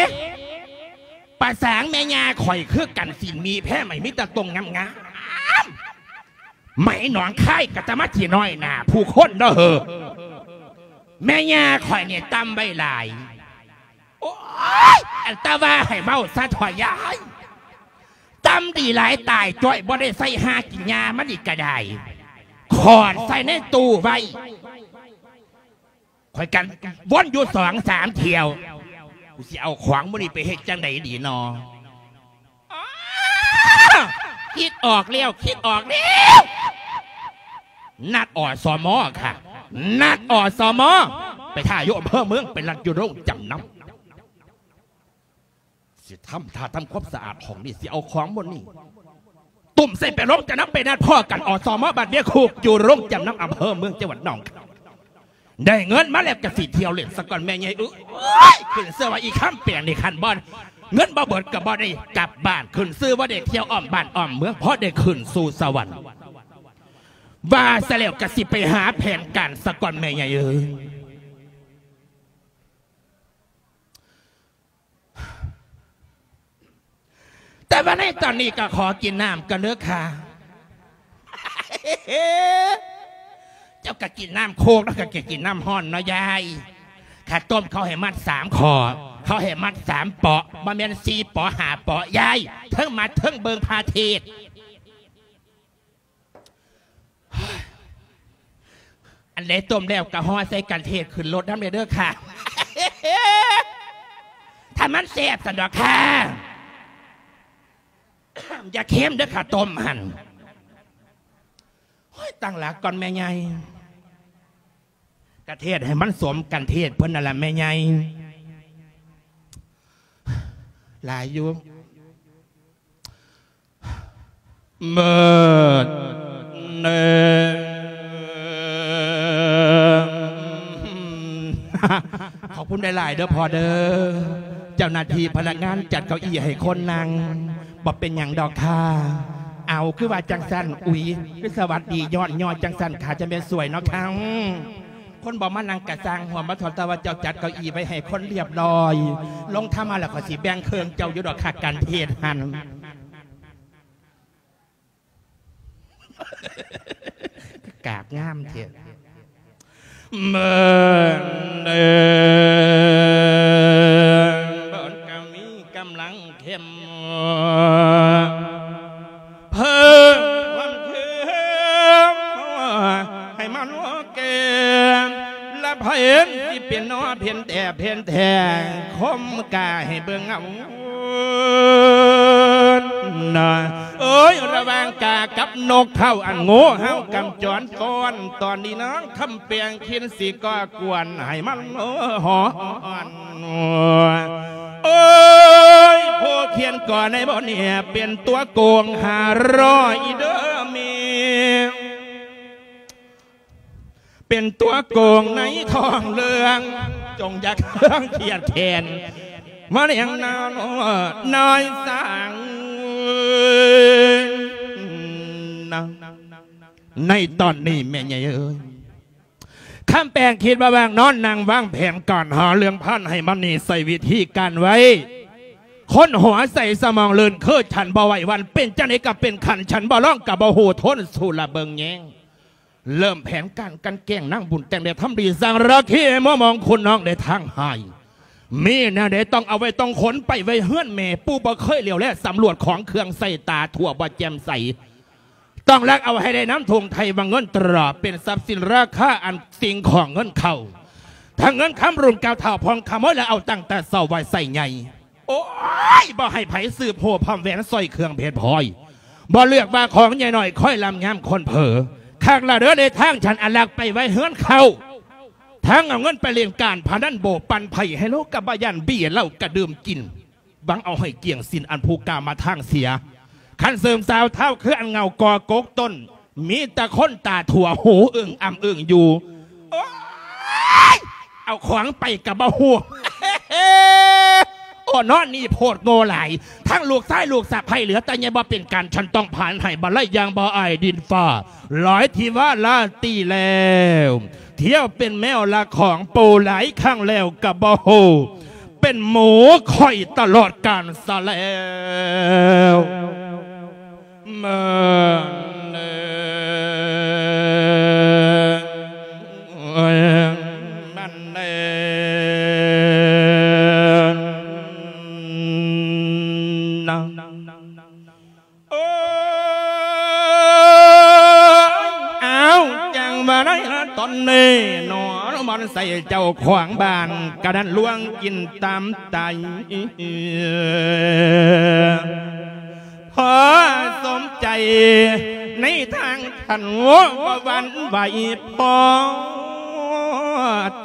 ປາສາງແມ່ຍ່າຂ້ອຍຄືກັນ ສິ້ນມີແພ້ໄໝ້ ມີແຕ່ຕົງງາມ ອ້ຳ ໄໝໜອງຄາຍກໍຈະມາຂີ້ນ້ອຍໜ້າຜູ້ຄົນເນາະເຮີ. ແມ່ຍ່າຂ້ອຍນີ້ຕ່ຳໄວ້ຫຼາຍ. ໂອ້ຍ ອັນຕາວ່າໃຫ້ເວົ້າຊະເຖາະຍາຍ. ຕ່ຳດີຫຼາຍຕາຍຈ້ອຍ ບໍ່ໄດ້ໃສ່ຫາກິນຫຍ້າມັນອີກກະໄດ້. ຂອນໃສ່ໃນຕູ້ໄວ້. ຂ້ອຍກັນວົນຢູ່ສອງສາມຖ້ຽວ. ກູຊິເອົາຂອງມື້ນີ້ໄປເຮັດຈັ່ງໃດດີນໍ? ອໍ ຄິດອອກແລ້ວ ຄິດອອກແລ້ວ. ນັດ ອສມ ຄ່ະ. ນັດ ອສມ ໄປຖ້າຢູ່ອຳເພີເມືອງ ໄປລັກຢູ່ໂຮງຈຳນຳ. ຊິທຳທ່າທຳຄວາມສະອາດຫ້ອງນີ້ ຊິເອົາຂອງໝົດນີ້ ຕຸ້ມໃສ່ໄປໂຮງຈຳນຳ ໄປນັດພໍ້ກັນ ອສມ ບ້ານເວຍຄູກ ຢູ່ໂຮງຈຳນຳອຳເພີເມືອງ ຈັງຫວັດໜອງຄາຍ. ໄດ້ເງິນມາແລ້ວກະຊິທ່ຽວຫຼິ້ນສາກ່ອນແມ່ໃຫຍ່ເອີຍ. ຂຶ້ນຊື່ວ່າອີຄຳແປງນີ້ ຄັນບໍ່ ເງິນບໍ່ເບິດກະບໍ່ໄດ້ກັບບ້ານ. ຂຶ້ນຊື່ວ່າໄດ້ທ່ຽວອ້ອມບ້ານອ້ອມເມືອງ ພໍໄດ້ຂຶ້ນສູ່ສະຫວັນ. ວ່າຊະແລ້ວກະຊິໄປຫາແຜນການສາກ່ອນແມ່ໃຫຍ່ເອີຍ. ແຕ່ວ່າໃນຕອນນີ້ກໍຂໍກິນນ້ຳກ່ອນເດີຄ່ະ. ເຈົ້າກໍກິນນ້ຳໂຄກ ແລ້ວກໍກິນນ້ຳຮ້ອນເນາະຍາຍ. ຂ້າຕົ້ມເຂົາໃຫ້ມັດສາມຂໍ້ ເຂົາໃຫ້ມັດສາມເປາະ ບໍ່ແມ່ນສີ່ເປາະຫ້າເປາະຍາຍ. ເທິງມັດເທິງເບິ່ງພະເທດ. ອັນໃດຕົ້ມແລ້ວກໍຫໍ່ໃສ່ກັນເທດຂຶ້ນລົດນຳແດ່ເດີຄ່ະ. ຖ້າມັນແຊບຊັ້ນດອກຄ່ະ. ຢ່າເຄັມເດີຄ່ະ ຕົ້ມຫັ້ນ. ໂອ້ຍ ຕັ້ງຫຼັກກ່ອນແມ່ໃຫຍ່. ກະເທດໃຫ້ມັນສົມກັນເທດເພິ່ນນັ້ນລະແມ່ໃຫຍ່. ຫຼາຍຢູ່. ເມີດເນີ ຂອບຄຸນຫຼາຍໆເດີພໍ່ເດີ. ເຈົ້າໜ້າທີ່ພະນັກງານຈັດເກົ້າอี้ໃຫ້ຄົນນັ່ງ. ບໍ່ເປັນຫຍັງດອກຄ່າ. ເອົາ ຄືວ່າຈັ່ງຊັ້ນ? ອຸຍ ຄືສະຫວັດດີຍ້ອນຍໍຈັ່ງຊັ້ນຄ່າ ຈະແມ່ນສວຍເນາະຄ່າ. ຄົນບໍ່ມານັ່ງກະຊ່າງຫົວ ມາຖອນແຕ່ວ່າເຈົ້າຈັດເກົ້າอี้ໄວ້ໃຫ້ຄົນລຽບລ້ອຍ. ລົງທຳມາແລ້ວຂ້ອຍຊິແບ່ງເຄິ່ງເຈົ້າຢູ່ດອກຄ່າ ການເທດຫັ້ນ. ກາບງາມແທ້. ເບິ່ງເດີ ເບິ່ງກໍມີກຳລັງເຂັ້ມ ເພີ່ມຄວາມເຂັ້ມໃຫ້ມັນແກ່ ລະເພັນຊິເປັນໜໍ່ເພັນແຕ່ເພັນແທ້ ຄົມກາໃຫ້ເບິ່ງເອົາ. ນະ ເອີຍ ລະຫວ່າງກາກັບນົກເຂົາ ອັນໂງ່ເຮົາກຳຈອນຟ້ອນ ຕອນນີ້ນາງຄຳແປງຄິນຊິກໍ່ກວນໃຫ້ມັນຮ້ອນ. ເອີຍ ຜູ້ຂຽນກໍໃນບ່ອນນີ້ ເປັນຕົວໂກງຫ້າຮ້ອຍເດີແມ່. ເປັນຕົວໂກງໃນທ້ອງເລື່ອງ ຈົ່ງຢ່າເຄືອງຄຽດແຄ້ນ ມາລ້ຽງນານ້ອຍສາງ. ໃນຕອນນີ້ແມ່ໃຫຍ່ເອີຍ ຄຳແປງຄິດວ່າວ່າງນອນນັ່ງວາງແຜນການຫາເລື່ອງພັນໃຫ້ມັນນີ້ ໃຊ້ວິທີການໄວ້ ຄົນຫົວໃສສະໝອງລື່ນ ຄືສັນບໍ່ໄຫວຫວັ່ນ ເປັນຈັ່ງໃດກໍເປັນຂັ້ນ ສັນບໍ່ລອງກໍບໍ່ຮູ້ທົນ ສູ້ລະເບິ່ງແຍງ. ເລີ່ມແຜນການກັ່ນແກ້ງນາງບຸນແຕ່ງແດ່ທຳດີ ສ້າງລາຄີໃຫ້ມົວມອງຄຸນນ້ອງໄດ້ທາງຫາຍ. ມີແນວໃດຕ້ອງເອົາໄວ້ ຕ້ອງຂົນໄປໄວ້ເຮືອນແມ່ ປູ່ບໍ່ເຄີຍຫຼຽວແລສຳຫຼວດ ຂອງເຄື່ອງໃຊ້ຕາທົ່ວບໍ່ແຈ່ມໃສ. ຕ້ອງລັກເອົາໃຫ້ໄດ້ນຳຖົງໄທວ່າເງິນຕຣາ ເປັນຊັບສິນລາຄາອັນສິ່ງຂອງເງິນເຂົ້າ ທັງເງິນຄຳລຸ້ນເກົ່າທ້າວພອງຂະໂມຍ ແລະເອົາຕັ້ງແຕ່ເຊົ້າໄວ້ໃສ່ໃຫຍ່. ໂອ້ຍ ບໍ່ໃຫ້ໃຜສືບຮູ້ພ້ອມແຫວນສ້ອຍເຄື່ອງເພັດພອຍ ບໍ່ເລືອກວ່າຂອງໃຫຍ່ນ້ອຍ ຄອຍລຳຍາມຄົນເຜີ. ຄັກລະເດີ ເດທາງ ສັນອະລັກໄປໄວ້ເຮືອນເຂົາ ທັງເອົາເງິນໄປຫຼິ້ນການພະນັນໂບ ປັ່ນໄພ້ໄຮໂລ ກະບໍ່ຢ້ານເບຍເຫຼົ້າກະດື່ມກິນ ຫວັງເອົາໃຫ້ກ້ຽງສິ້ນອັນຜູ້ກາມະທາງເສຍ. ຄັນເສີມສາວທ້າວຄືອັນເຫງົາກໍກົກຕົ້ນ ມີແຕ່ຄົນຕາຖົ່ວຫູອຶ້ງອຳອຶ້ງຢູ່. ໂອ້ຍ ເອົາຂອງໄປກະບໍ່ຮູ້. ໂອ້ ນອນນີ້ໂພດໂງ່ຫຼາຍ ທັງລູກຊາຍລູກສະໃພ້ເຫຼືອແຕ່ໃຫຍ່ ບໍ່ເປັນການ ສັນຕ້ອງຜານໃຫ້ບັນໄລຢ່າງບໍ່ອາຍດິນຟ້າ ຫຼາຍທີ່ວ່າລາຕີແລ້ວ ທ່ຽວເປັນແມວລະຂອງປູຫຼາຍຄັ້ງແລ້ວກະບໍ່ຮູ້ ເປັນໝູຂ້ອຍຕະຫຼອດການຊະແລ້ວ. ເອີ ມັນເອີ ເນາະ ໂອ້ຍ ອ້າວ ຈັ່ງວ່າໄດ້ລະຕອນນີ້ເນາະ ມາໃສ່ເຈົ້າຂອງບ້ານກະນັ້ນລວງກິນຕາມໄຕ ພໍສົມໃຈໃນທາງຄັນ ບໍ່ຫວັ່ນໄຫວ ພໍ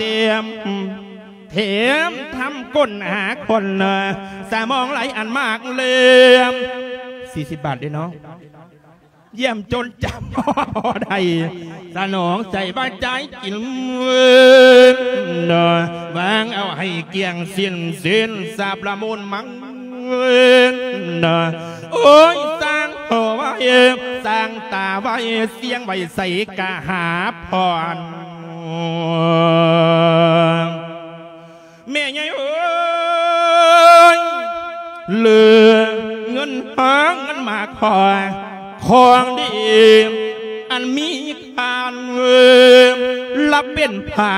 ຕຽມ ແຖມທຳຄົ້ນຫາຄົນ ສະໝອງໄຫຼອັນມາກເຫຼືອ ສີ່ສິບບາດເດ້ເນາະ ຢ້ຽມຈົນຈຳບໍ່ໄດ້ ສະໜອງໃຈວ່າຈ່າຍກິນ ວາງເອົາໃຫ້ກ້ຽງສິ້ນ ສິ້ນສາບລະມູນມັງ ໂອ້ຍ ສ້າງໂຫໄວ້ ສ້າງຕາໄວ້ ສຽງໄວ້ໃສກະຫາພອນ ແມ່ໃຫຍ່ເອີຍ ເຫຼືອເງິນຫາເງິນມາຂອ ຂອງດີອັນມີຄ່າ ລະເປັນພາ